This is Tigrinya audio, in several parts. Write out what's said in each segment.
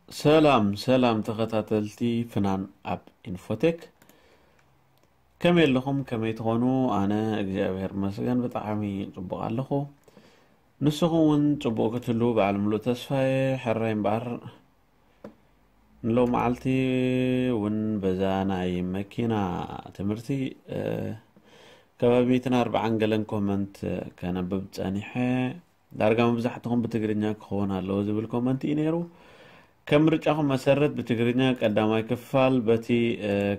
ሰላም ሰላም ተኸታተልቲ ፍናን ኣብ ኢንፎቴክ፣ ከመይ ኣለኹም? ከመይ ትኾኑ? ኣነ እግዚኣብሔር መስገን ብጣዕሚ ጽቡቕ ኣለኹ። ንስኹም እውን ጽቡቕ ክትህሉ በዓል ምሉእ ተስፋየ። ሕራይ እምበኣር ንሎ መዓልቲ እውን በዛ ናይ መኪና ትምህርቲ ከባቢ ሚእትን ኣርባዓን ገለን ኮመንት ከነብብ ጸኒሐ። ዳርጋ መብዛሕትኹም ብትግርኛ ክኸውን ኣለዎ ዝብል ኮመንት እዩ ነይሩ። ከም ምርጫኹም መሰረት ብትግርኛ ቀዳማይ ክፋል በቲ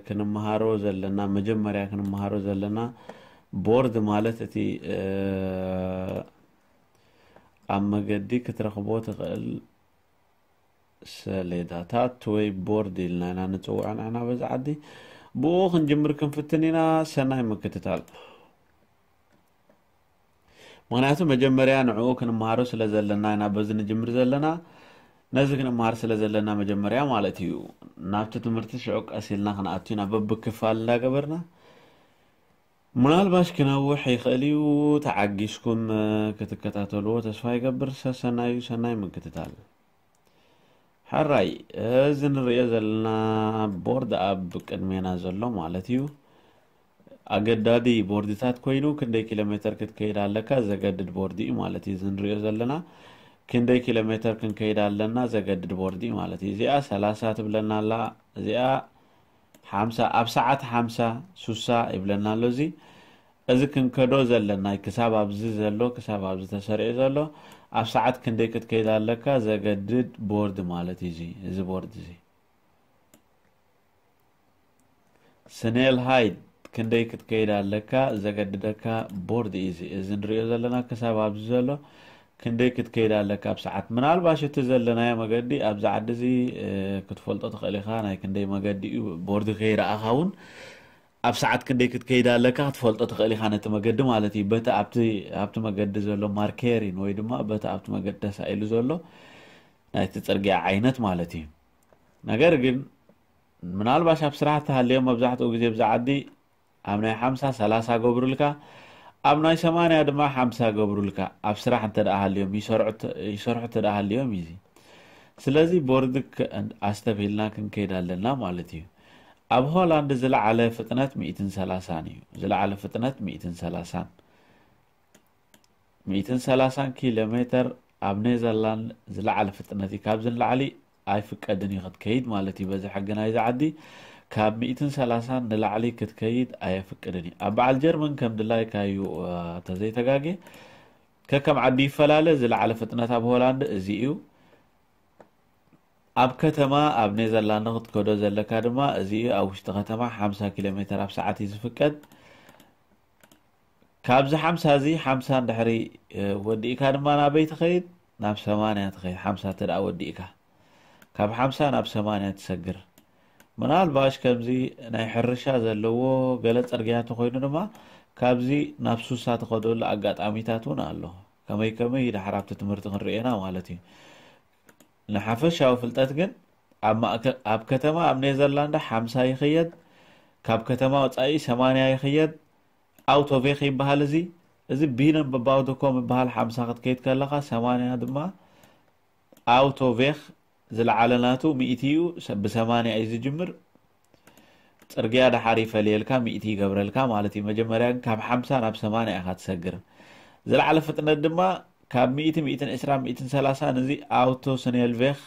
ክንመሃሮ ዘለና፣ መጀመርያ ክንመሃሮ ዘለና ቦርድ ማለት እቲ ኣብ መገዲ ክትረኽቦ ትኽእል ሰሌዳታት ወይ ቦርድ ኢልና ኢና ንፅውዖ ንሕና በዚ ዓዲ። ብኡ ክንጅምር ክንፍትን ኢና። ሰናይ ምክትታል። ምክንያቱ መጀመርያ ንዕኡ ክንመሃሮ ስለ ዘለና ኢና በዚ ንጅምር ዘለና። ነዚ ክንመሃር ስለ ዘለና መጀመርያ ማለት እዩ። ናብቲ ትምህርቲ ሽዑ ቀስ ኢልና ክንኣቱ ኢና በብክፋል እንዳገበርና። ምናልባሽ ክነውሕ ይኽእል እዩ። ተዓጊስኩም ክትከታተልዎ ተስፋ ይገብር። ሰሰናዩ ሰናይ ምክትታል። ሕራይ፣ እዚ ንሪኦ ዘለና ቦርድ ኣብ ቅድሜና ዘሎ ማለት እዩ። ኣገዳዲ ቦርድታት ኮይኑ ክንደይ ኪሎ ሜተር ክትከይድ ኣለካ ዘገድድ ቦርድ እዩ ማለት እዩ። እዚ ንሪኦ ዘለና ክንደይ ኪሎ ሜተር ክንከይድ ኣለና ዘገድድ ቦርድ እዩ ማለት እዩ። እዚኣ ሰላሳ ትብለና ኣላ። እዚኣ ሓምሳ፣ ኣብ ሰዓት ሓምሳ፣ ሱሳ ይብለና ኣሎ። እዚ፣ እዚ ክንከዶ ዘለና ክሳብ ኣብዚ ዘሎ፣ ክሳብ ኣብዚ ተሰሪዑ ዘሎ፣ ኣብ ሰዓት ክንደይ ክትከይድ ኣለካ ዘገድድ ቦርድ ማለት እዩ። እዚ፣ እዚ ቦርድ እዚ። ስኔል ሃይት ክንደይ ክትከይድ ኣለካ ዘገድደካ ቦርድ እዩ። እዚ፣ እዚ ንሪኦ ዘለና ክሳብ ኣብዚ ዘሎ ክንደይ ክትከይድ ኣለካ ኣብ ሰዓት። ምናልባሽ እቲ ዘለናዮ መገዲ ኣብዚ ዓዲ እዚ፣ እ፣ ክትፈልጦ ትኽእል ኢኻ። ናይ ክንደይ መገዲ እዩ ቦርድ ከይረኣኻ እውን ኣብ ሰዓት ክንደይ ክትከይድ ኣለካ ክትፈልጦ ትኽእል ኢኻ ነቲ መገዲ ማለት እዩ። በቲ ኣብቲ፣ ኣብቲ መገዲ ዘሎ ማርከሪን ወይ ድማ በቲ ኣብቲ መገዲ ተሳኢሉ ዘሎ ናይቲ ጽርግያ ዓይነት ማለት እዩ። ነገር ግን ምናልባሽ ኣብ ስራሕ ተሃልዮም መብዛሕትኡ ግዜ ብዛ ዓዲ ኣብ ናይ ሓምሳ ሰላሳ ገብሩልካ፣ ኣብ ናይ ሰማንያ ድማ ሓምሳ ገብሩልካ። ኣብ ስራሕ እንተ ደኣ ሃልዮም፣ ይሰርሑ ተ-፣ ይሰርሑ እንተ ደኣ ሃልዮም እዩ እዚ። ስለዚ ቦርድ ከ-፣ ኣስተብሂልና ክንከይድ ኣለና ማለት እዩ። ኣብ ሆላንድ ዝለዓለ ፍጥነት ሚእትን ሰላሳን እዩ። ዝለዓለ ፍጥነት ሚእትን ሰላሳን። ሚእትን ሰላሳን ኪሎ ሜተር ኣብ ኔዘርላንድ ዝለዓለ ፍጥነት እዩ። ካብዚ ንላዕሊ ኣይፍቀድን እዩ ክትከይድ ማለት እዩ። በዚ ሕጊ ናይዚ ዓዲ ካብ ሚእትን ሰላሳን ንላዕሊ ክትከይድ ኣየፍቅድን እዩ። ኣብ በዓል ጀርመን ከም ድላይካ እዩ፣ እ፣ ተዘይተጋጌ። ከከም ዓዲ ይፈላለ። ዝለዓለ ፍጥነት ኣብ ሆላንድ እዚ እዩ። ኣብ ከተማ፣ ኣብ ኔዘርላንድ ክትከዶ ዘለካ ድማ እዚ እዩ። ኣብ ውሽጢ ከተማ ሓምሳ ኪሎ ሜተር ኣብ ሰዓት እዩ ዝፍቀድ። ካብዚ ሓምሳ እዚ፣ ሓምሳ እንድሕሪ፣ እ፣ ወዲእካ ድማ ናበይ ትኸይድ? ናብ ሰማንያ ትኸይድ፣ ሓምሳ እንተ ደኣ ወዲእካ። ካብ ሓምሳ ናብ ሰማንያ ትሰግር። ምናልባሽ ከምዚ ናይ ሕርሻ ዘለዎ ገለ ጽርግያ እንተኾይኑ ድማ፣ ካብዚ ናብ ሱሳ ትኸደሉ ኣጋጣሚታት እውን ኣሎ። ከመይ ከመይ ድሓር ኣብቲ ትምህርቲ ክንርእየና ማለት እዩ። ንሓፈሻዊ ፍልጠት ግን፣ ኣብ ማእከ-፣ ኣብ ከተማ ኣብ ኔዘርላንድ ሓምሳ ይኽየድ፣ ካብ ከተማ ወጻኢ ሰማንያ ይኽየድ፣ ኣውቶቬክ ይበሃል እዚ። እዚ ቢነን በባውደኮም ይበሃል፣ ሓምሳ ክትከይድ ከለኻ፣ ሰማንያ ድማ ኣውቶቬክ ዝለዓለ ናቱ ሚእቲ እዩ፣ ሰ-፣ ብሰማንያ እዩ ዝጅምር። ጽርግያ ድሓር ይፈልየልካ፣ ሚእቲ ይገብረልካ ማለት እዩ። መጀመርያ ግን ካብ ሓምሳ ናብ ሰማንያ ኢኻ ትሰግር። ዝለዓለ ፍጥነት ድማ ካብ ሚእቲ፣ ሚእትን ዕስራን፣ ሚእትን ሰላሳን፣ እዚ ኣውቶ ስኔልቬክ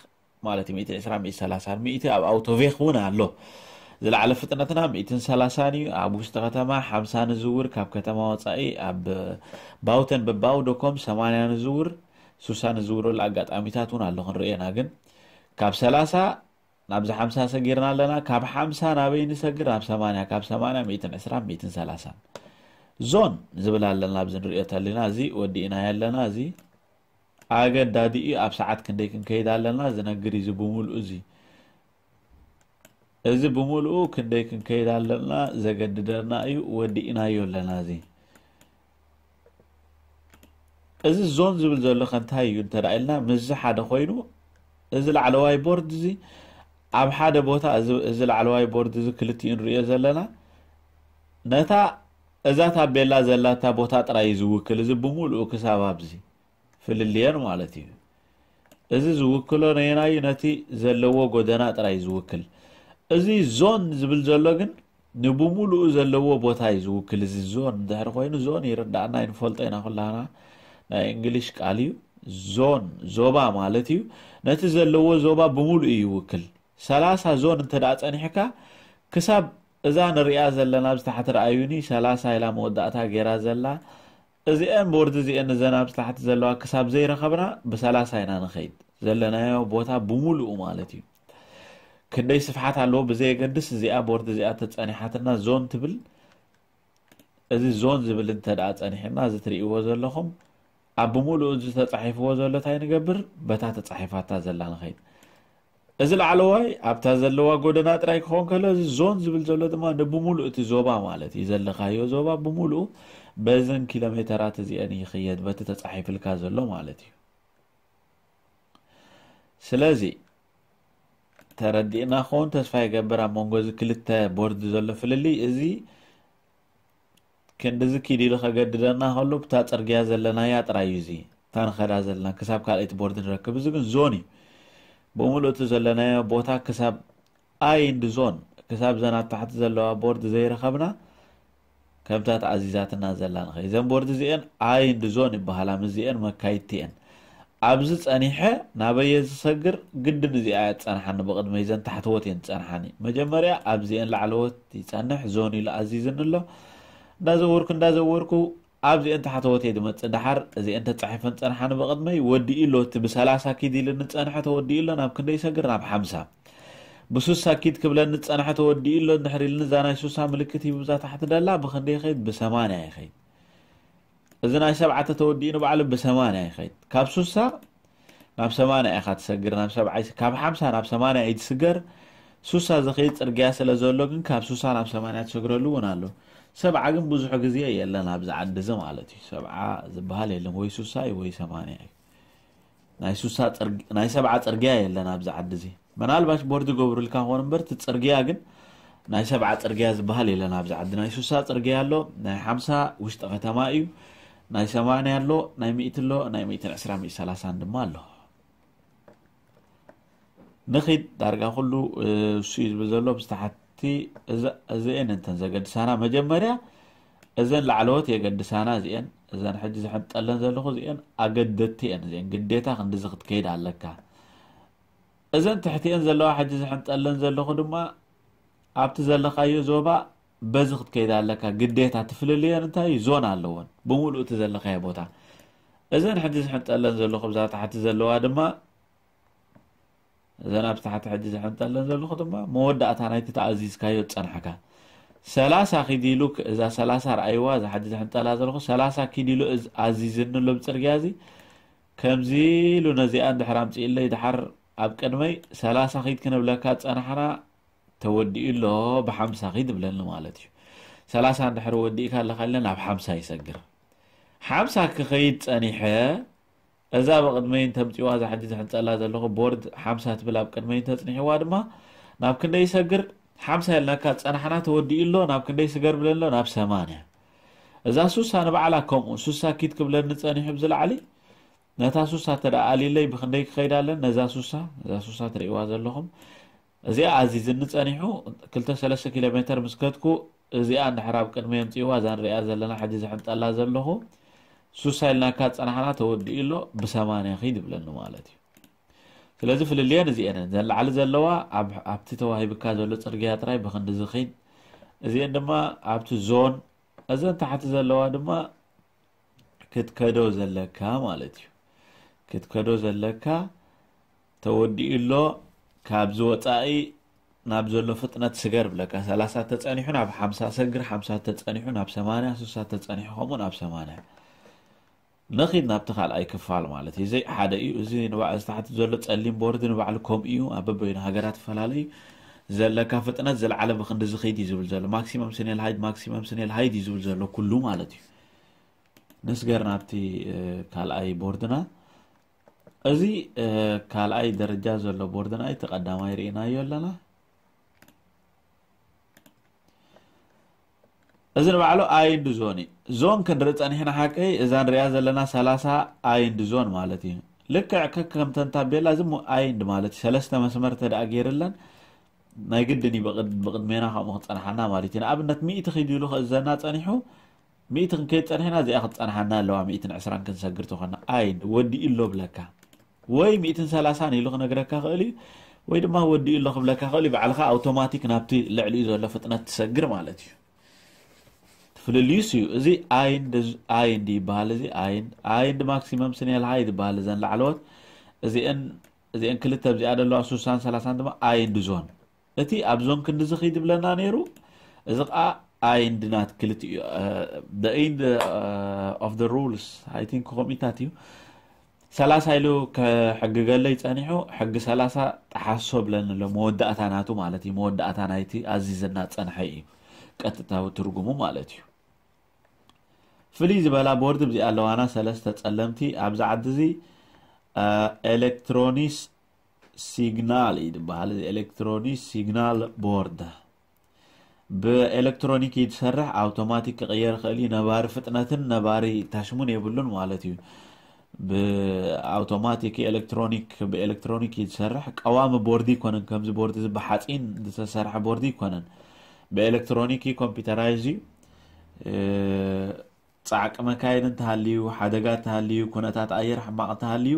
ማለት እዩ። ሚእቲ ዕስራን፣ ሚእቲ ሰላሳን፣ ሚእቲ ኣብ ኣውቶቬክ እውን ኣሎ። ዝለዓለ ፍጥነትና ሚእትን ሰላሳን እዩ። ኣብ ውሽጢ ከተማ ሓምሳ ንዝውር፣ ካብ ከተማ ወጻኢ ኣብ ባውተን በባውደኮም ሰማንያ ንዝውር፣ ሱሳ ንዝውረሉ ኣጋጣሚታት እውን ኣሎ ክንርእየና። ግን ካብ ሰላሳ ናብዚ ሓምሳ ሰጊርና ኣለና። ካብ ሓምሳ ናበይ ንሰግር? ናብ ሰማንያ። ካብ ሰማንያ ሚእትን ዕስራን፣ ሚእትን ሰላሳን። ዞን ዝብል ኣለና ኣብዚ ንርእዮ ተሊና። እዚ ወዲእናዮ ኣለና። እዚ ኣገዳዲ እዩ። ኣብ ሰዓት ክንደይ ክንከይድ ኣለና ዝነግር እዩ። እዚ ብምሉኡ እዚ፣ እዚ ብምሉኡ ክንደይ ክንከይድ ኣለና ዘገድደና እዩ። ወዲእናዮ ኣለና። እዚ፣ እዚ ዞን ዝብል ዘሎ ከ እንታይ እዩ እንተ ደኣ ኢልና፣ ምስዚ ሓደ ኮይኑ፣ እዚ ላዕለዋይ ቦርድ እዚ ኣብ ሓደ ቦታ፣ እዚ፣ እዚ ላዕለዋይ ቦርድ እዚ ክልቲኡ ንርእዮ ዘለና፣ ነታ እዛ ታቤላ ዘላታ ቦታ ጥራይ እዩ ዝውክል። እዚ ብምሉኡ ክሳብ ኣብዚ ፍልልየን ማለት እዩ። እዚ ዝውክሎ ነየናዩ? ነቲ ዘለዎ ጎደና ጥራይ ዝውክል። እዚ ዞን ዝብል ዘሎ ግን ንብሙሉኡ ዘለዎ ቦታ እዩ ዝውክል። እዚ ዞን እንድሕር ኮይኑ፣ ዞን ይርዳእና፣ ይንፈልጦ ኢና ኩላና፣ ናይ እንግሊሽ ቃል እዩ። ዞን ዞባ ማለት እዩ። ነቲ ዘለዎ ዞባ ብሙሉኡ ይውክል። ሰላሳ ዞን እንተ ደኣ ጸኒሕካ፣ ክሳብ እዛ ንሪኣ ዘለና ኣብዚ ታሕቲ ረኣዩኒ፣ ሰላሳ ኢላ መወዳእታ ገይራ ዘላ፣ እዚአን ቦርድ እዚአን እዘን ኣብዚ ታሕቲ ዘለዋ ክሳብ ዘይረኸብና ብሰላሳ ኢና ንኸይድ። ዘለናዮ ቦታ ብሙሉኡ ማለት እዩ። ክንደይ ስፍሓት ኣለዎ ብዘየገድስ፣ እዚኣ ቦርድ እዚኣ ተጸኒሓትና ዞን ትብል። እዚ ዞን ዝብል እንተ ደኣ ጸኒሕና፣ እዚ ትርእይዎ ዘለኹም ኣብ ብምሉኡ እዚ ተጻሒፍዎ ዘሎ እንታይ ንገብር? በታ ተጻሒፋታ ዘላ ንኸይድ። እዚ ላዕለዋይ ኣብታ ዘለዋ ጎደና ጥራይ ክኸውን ከሎ፣ እዚ ዞን ዝብል ዘሎ ድማ ንብምሉእ እቲ ዞባ ማለት እዩ። ዘለኻዮ ዞባ ብምሉኡ በዘን ኪሎ ሜተራት እዚአን ይኽየድ፣ በቲ ተጻሒፍልካ ዘሎ ማለት እዩ። ስለዚ ተረዲእና ክኸውን ተስፋ ይገብር። ኣብ መንጎ እዚ ክልተ ቦርድ ዘሎ ፍልልይ እዚ ክንድዚ ኪድ ኢሉ ከገድደና ከሎ፣ ብታ ጽርግያ ዘለናያ ጥራይ እዩ። እዚ እታ ንኸዳ ዘለና ክሳብ ካልኣይቲ ቦርድ ንረክብ። እዚ ግን ዞን እዩ። ብምሉእ እቲ ዘለናዮ ቦታ ክሳብ ኣይ እንድ ዞን፣ ክሳብ ዘን ኣብ ታሕቲ ዘለዋ ቦርድ ዘይረኸብና፣ ከምታ ተኣዚዛትና ዘላ ንኸይ። እዘን ቦርድ እዚአን ኣይ እንድ ዞን ይበሃላ፣ ምስዚአን መካይድቲ እየን። ኣብዚ ጸኒሐ ናበየ ዝሰግር? ግድን እዚኣ እያ ትጸንሓኒ ብቕድመይ፣ እዘን ታሕተዎት እየን ዝጸንሓኒ። መጀመርያ ኣብዚአን ላዕለዎት ይጸንሕ፣ ዞን ኢሉ ኣዚዝኒ ኣሎ። እንዳዘወርኩ እንዳዘወርኩ ኣብዚአን ታሕተዎት እየ ዝመጽእ። ደሓር እዚአን ተጻሒፈን ጸንሓኒ ብቕድመይ፣ ወዲኡ ኣሎ። እቲ ብሰላሳ ኪድ ኢሉ ንጸንሐ ተወዲኡ ኣሎ። ናብ ክንደይ ይሰግር? ናብ ሓምሳ። ብሱሳ ኪድ ክብለኒ ዝጸንሐ ተወዲኡ ኣሎ። እንድሕር ኢሉኒ እዛ ናይ ሱሳ ምልክት ሂቡ እዛ ታሕቲ ደላ ብኽንደይ ይኸይድ? ብሰማንያ ይኸይድ። እዚ ናይ ሰብዓ ተተወዲኡ ንባዕሉ ብሰማንያ ይኸይድ። ካብ ሱሳ ናብ ሰማንያ ኢኻ ትሰግር፣ ናብ ሰብዓ ይስ-፣ ካብ ሓምሳ ናብ ሰማንያ እዩ ትስገር። ሱሳ ዝኸይድ ጽርግያ ስለ ዘሎ ግን ካብ ሱሳ ናብ ሰማንያ ትሰግረሉ እውን ኣሎ። ሰብዓ ግን ብዙሕ ግዜ የለን ኣብዚ ዓዲ እዚ ማለት እዩ። ሰብዓ ዝበሃል የለን፣ ወይ ሱሳ እዩ ወይ ሰማንያ እዩ። ናይ ሱሳ ጽርግ-፣ ናይ ሰብዓ ጽርግያ የለን ኣብዚ ዓዲ እዚ። ምናልባሽ ቦርድ ይገብሩልካ ኾን እምበር፣ እቲ ጽርግያ ግን ናይ ሰብዓ ጽርግያ ዝበሃል የለን ኣብዚ ዓዲ። ናይ ሱሳ ጽርግያ ኣሎ፣ ናይ ሓምሳ ውሽጢ ከተማ እዩ፣ ናይ ሰማንያ ኣሎ፣ ናይ ሚእቲ ኣሎ፣ ናይ ሚእትን ዕስራ፣ ሚእቲ ሰላሳን ድማ ኣሎ። ንኺድ ዳርጋ ኩሉ፣ እ፣ እሱ እዩ ዝብል ዘሎ። ብዝተሓቲ እዘ-፣ እዚአን እንተን ዘገድሳና፣ መጀመርያ እዘን ላዕለዎት የገድሳና። እዚአን፣ እዘን ሕጂ ዝሕንጠለን ዘለኹ እዚአን ኣገደድቲ እየን። እዚአን ግዴታ ክንድዚ ክትከይድ ኣለካ። እዘን ትሕቲአን ዘለዋ ሕጂ ዝሕንጠለን ዘለኹ ድማ ኣብቲ ዘለኻዮ ዞባ በዚ ክትከይድ ኣለካ። ግዴታ ትፍልልየን እንታይ እዩ? ዞን ኣለወን። ብምሉእ እቲ ዘለኻዮ ቦታ። እዘን ሕጂ ዝሕንጠለን ዘለኹ ብዛ ታሕቲ ዘለዋ ድማ፣ እዘን ኣብ ታሕቲ ሕጂ ዝሕንጠለን ዘለኹ ድማ መወዳእታ ናይቲ ተኣዚዝካዮ ዝጸንሐካ። ሰላሳ ኪድ ኢሉ ክ-፣ እዛ ሰላሳ ረኣይዋ፣ እዛ ሕጂ ዝሕንጠላ ዘለኹ፣ ሰላሳ ኪድ ኢሉ እዝ-፣ ኣዚዝኒ ኣሎ ብጽርግያ እዚ። ከምዚ ኢሉ ነዚኣ እንድሕር ኣምጺእለይ፣ ድሓር ኣብ ቅድመይ ሰላሳ ኪድ ክንብለካ ዝጸናሕና ተወዲኡ ኣሎ፣ ብሓምሳ ኪድ ይብለኒ ማለት እዩ። ሰላሳ እንድሕር ወዲእካ ኣለኻ ኢለ ናብ ሓምሳ ይሰግር። ሓምሳ ክኸይድ ጸኒሐ፣ እዛ ብቕድመይ እንተምጺዋ፣ እዛ ሕጂ ዝሕንጸላ ዘለኹ ቦርድ ሓምሳ ትብል ኣብ ቅድመይ እንተጽኒሕዋ ድማ፣ ናብ ክንደይ ይሰግር? ሓምሳ ኢልናካ ዝጸናሕና ተወዲኡ ኣሎ፣ ናብ ክንደይ ስገር ብለኒ ኣሎ? ናብ ሰማንያ። እዛ ሱሳ ንባዕላ ከምኡ፣ ሱሳ ኪድ ክብለኒ ጸኒሑ ብዝላዕሊ፣ ነታ ሱሳ እንተ ደኣ ኣልይለይ ብኽንደይ ክኸይድ ኣለን? ነዛ ሱሳ፣ ነዛ ሱሳ ትርእይዋ ዘለኹም፣ እዚኣ ኣዚዝኒ ጸኒሑ፣ ክልተ ሰለስተ ኪሎ ሜተር ምስ ከድኩ፣ እዚኣ እንድሕር ኣብ ቅድመይ ኣምጺእዋ፣ እዛ ንሪኣ ዘለና ሕጂ ዝሕንጠላ ዘለኹ፣ ሱሳ ኢልናካ ዝጸናሕና ተወዲኡ ኣሎ፣ ብሰማንያ ኺድ ይብለኒ ማለት እዩ። ስለዚ ፍልልየን እዚአን እየን። እዘን ላዕሊ ዘለዋ ኣብ-፣ ኣብቲ ተዋሂብካ ዘሎ ጽርግያ ጥራይ ብኽንድዚ ኺድ፣ እዚአን ድማ ኣብቲ ዞን፣ እዘን ታሕቲ ዘለዋ ድማ ክትከዶ ዘለካ ማለት እዩ። ክትከዶ ዘለካ ተወዲኡ ኣሎ፣ ካብዚ ወጻኢ ናብ ዘሎ ፍጥነት ስገር ብለካ። ሰላሳ ተጸኒሑ ናብ ሓምሳ ሰግር፣ ሓምሳ ተጸኒሑ ናብ ሰማንያ፣ ስሳ ተጸኒሑ ከምኡ ናብ ሰማንያ። ንኺድ ናብቲ ካልኣይ ክፋል ማለት እዩ። እዚ ሓደ እዩ። እዚ ንባዕ-፣ እዚ ታሕቲ ዘሎ ጸሊም ቦርድ ንባዕሉ ከምኡ እዩ። ኣብ በበይኑ ሃገራት ይፈላለ እዩ። ዘለካ ፍጥነት ዝለዓለ ብኽንዲ ዝኸይድ እዩ ዝብል ዘሎ። ማክሲመም ስኔል ሃይድ፣ ማክሲመም ስኔል ሃይድ እዩ ዝብል ዘሎ ኩሉ ማለት እዩ። ንስገር ናብቲ፣ እ፣ ካልኣይ ቦርድና። እዚ፣ እ፣ ካልኣይ ደረጃ ዘሎ ቦርድና እቲ ቀዳማይ ርኢናዮ ኣለና። እዚ ንባዕሉ ኣይ እንድ ዞን እዩ። ዞን ክንርኢ ጸኒሕና ሓቀይ፣ እዛ ንሪኣ ዘለና ሰላሳ ኣይ እንድ ዞን ማለት እዩ። ልክዕ ከከም ተን ታቤላ እዚ ሞ-፣ ኣይንድ ማለት እዩ። ሰለስተ መስመር ተደኣ ገይርለን ናይ ግድን እዩ ብቕድ-፣ ብቕድሜና ከምኡ ክጸንሓና ማለት እዩ። ንኣብነት ሚእቲ ኪድ ኢሉ ክእዘና ጸኒሑ፣ ሚእቲ ክንከይድ ጸኒሕና እዚኣ ክትጸንሓና ኣለዋ፣ ሚእትን ዕስራን ክንሰግር ተኾና። ኣይንድ ወዲኡ ኣሎ ብለካ። ወይ ሚእትን ሰላሳን ኢሉ ክነግረካ ክእል እዩ፣ ወይ ድማ ወዲኡ ኣሎ ክብለካ ክእል እዩ። ባዕልኻ ኣውቶማቲክ ናብቲ ልዕሊኡ ዘሎ ፍጥነት ትሰግር ማለት እዩ። ፍልልዩስ እዩ። እዚ ኣይንድ፣ ኣይንድ ይበሃል። እዚ ኣይንድ፣ ኣይንድ ማክሲመም ስኔል ሃይድ ይበሃል። እዘን ላዕለዎት እዚአን፣ እዚአን ክልተ ኣብዚኣ ዘለዋ ሱሳን ሰላሳን ድማ ኣይንድ ዞን። እቲ ኣብ ዞን ክንድዚ ኺድ ይብለና ነይሩ። እዚ ኸዓ ኣይንድ ናት ክልቲኡ፣ እ፣ the end፣ እ፣ of the rules፣ I think ከምኢታት እዩ። ሰላሳ ኢሉ ከሕግገለይ ጸኒሑ፣ ሕጊ ሰላሳ ጠሓሶ ብለኒ ኣሎ። መወዳእታ ናቱ ማለት እዩ። መወዳእታ ናይቲ ኣዚዘና ጸንሐ እዩ። ቀጥታዊ ትርጉሙ ማለት እዩ። ፍልይ ዝበላ ቦርድ ብዚኣ ኣለዋና ሰለስተ ጸለምቲ ኣብዚ ዓዲ እዚ፣ እ፣ ኤሌክትሮኒስ ሲግናል እዩ ዝበሃል። እዚ ኤሌክትሮኒስ ሲግናል ቦርድ ብኤሌክትሮኒክ እዩ ዝሰርሕ። ኣውቶማቲክ ክቕየር ይኽእል እዩ። ነባሪ ፍጥነትን ነባሪ ታሽሙን የብሉን ማለት እዩ። ብኣውቶማቲክ ኤሌክትሮኒክ፣ ብኤሌክትሮኒክ እዩ ዝሰርሕ። ቀዋሚ ቦርድ ይኮነን። ከምዚ ቦርድ እዚ ብሓፂን ዝተሰርሐ ቦርድ ይኮነን። ብኤሌክትሮኒክ እዩ፣ ኮምፒውተራይዝ እዩ። እ፣ ጻዕቂ መካይን እንተሃልዩ፣ ሓደጋ እንተሃልዩ፣ ኩነታት ኣየር ሕማቕ እንተሃልዩ፣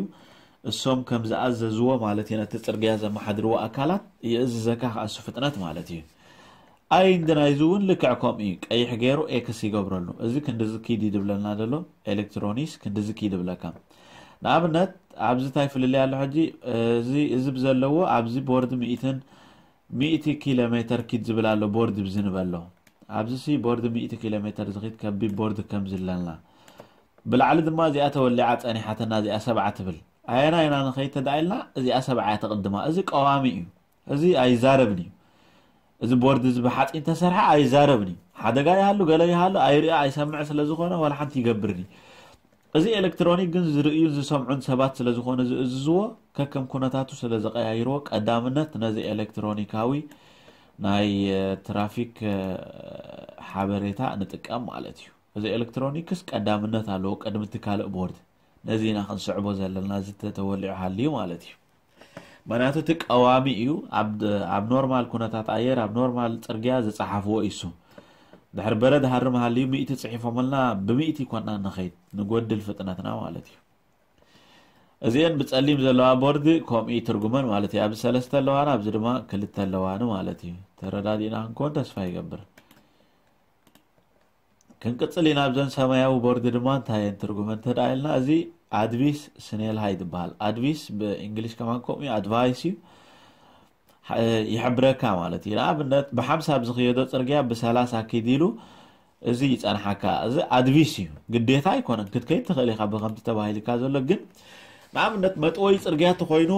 እሶም ከም ዝኣዘዝዎ ማለት እዩ፣ ነቲ ጽርግያ ዘመሓድርዎ ኣካላት ይእዝዘካ ከኣ እሱ ፍጥነት ማለት እዩ። ኣይንድ ናይዚ እውን ልክዕ ከምኡ እዩ። ቀይሕ ገይሩ ኤክስ ይገብረሉ። እዚ ክንድዚ ኪድ እዩ ዝብለና ዘሎ፣ ኤሌክትሮኒስ ክንድዚ ኪድ ይብለካ። ንኣብነት፣ ኣብዚ እንታይ ፍልልይ ኣሎ ሕጂ? እዚ፣ እዚ ብዘለዎ ኣብዚ ቦርድ ሚእትን፣ ሚእቲ ኪሎ ሜተር ኪድ ዝብል ኣሎ፣ ቦርድ ብዚ ንበሎ። ኣብዚ ሲ ቦርድ ሚእቲ ኪሎ ሜተር ዝኺድ ከቢድ ቦርድ ከም ዝለና። ብላዕሊ ድማ እዚኣ ተወሊዓ ጸኒሓትና፣ እዚኣ ሰብዓ ትብል። ኣየና ኢና ንኸይድ ተዳኢልና፣ እዚኣ ሰብዓ እያ ተቕድማ። እዚ ቀዋሚ እዩ። እዚ ኣይዛረብን እዩ። እዚ ቦርድ እዚ ብሓጺን ተሰርሐ ኣይዛረብን እዩ። ሓደጋ ይሃሉ፣ ገለ ይሃሉ፣ ኣይርኢ፣ ኣይሰምዕ ስለ ዝኾነ፣ ዋላ ሓንቲ ይገብርን እዩ። እዚ ኤሌክትሮኒክ ግን ዝርእዩን ዝሰምዑን ሰባት ስለ ዝኾነ ዝእዝዝዎ፣ ከከም ኩነታቱ ስለ ዘቀያይርዎ፣ ቀዳምነት ነዚ ኤሌክትሮኒካዊ ናይ፣ እ፣ ትራፊክ፣ እ፣ ሓበሬታ ንጥቀም ማለት እዩ። እዚ ኤሌክትሮኒክስ ቀዳምነት ኣለዎ ቅድሚ እቲ ካልእ ቦርድ። ነዚ ኢና ክንስዕቦ ዘለና፣ እዚ ተተወሊዑ ሃልዩ ማለት እዩ። ምኽንያቱ እቲ ቀዋሚ እዩ። ኣብ፣ ኣብ ኖርማል ኩነታት ኣየር፣ ኣብ ኖርማል ጽርግያ ዝጸሓፍዎ እዩ እሱ። ድሕሪ በረድ ሃርም ሃልዩ ሚእቲ ጽሒፎምልና፣ ብሚእቲ ኮና ንኸይድ፣ ንጎድል ፍጥነትና ማለት እዩ። እዚአን ብጸሊም ዘለዋ ቦርድ ከምኡ እዩ ትርጉመን ማለት እዩ። ኣብዚ ሰለስተ ኣለዋና፣ ኣብዚ ድማ ክልተ ኣለዋኒ ማለት እዩ። ተረዳዲእና ክንከውን ተስፋ ይገብር። ክንቅጽል ኢና። ኣብዘን ሰማያዊ ቦርድ ድማ እንታይ እየን ትርጉመን እንተ ደኣ ኢልና፣ እዚ ኣድቪስ ስኔል ሃይድ ይበሃል። ኣድቪስ ብእንግሊሽ ከማን ከምኡ እዩ፣ ኣድቫይስ እዩ። ሐ-፣ ይሕብረካ ማለት እዩ። ንኣብነት ብሓምሳ ብዝኽየዶ ጽርግያ ብሰላሳ ኪድ ኢሉ እዚ ይጸንሓካ። እዚ ኣድቪስ እዩ። ግዴታ ኣይኮነን። ክትከይድ ትኽእል ኢኻ ብከምቲ ተባሂልካ ዘሎ። ግን ንኣብነት መጥወይ ጽርግያ ተኾይኑ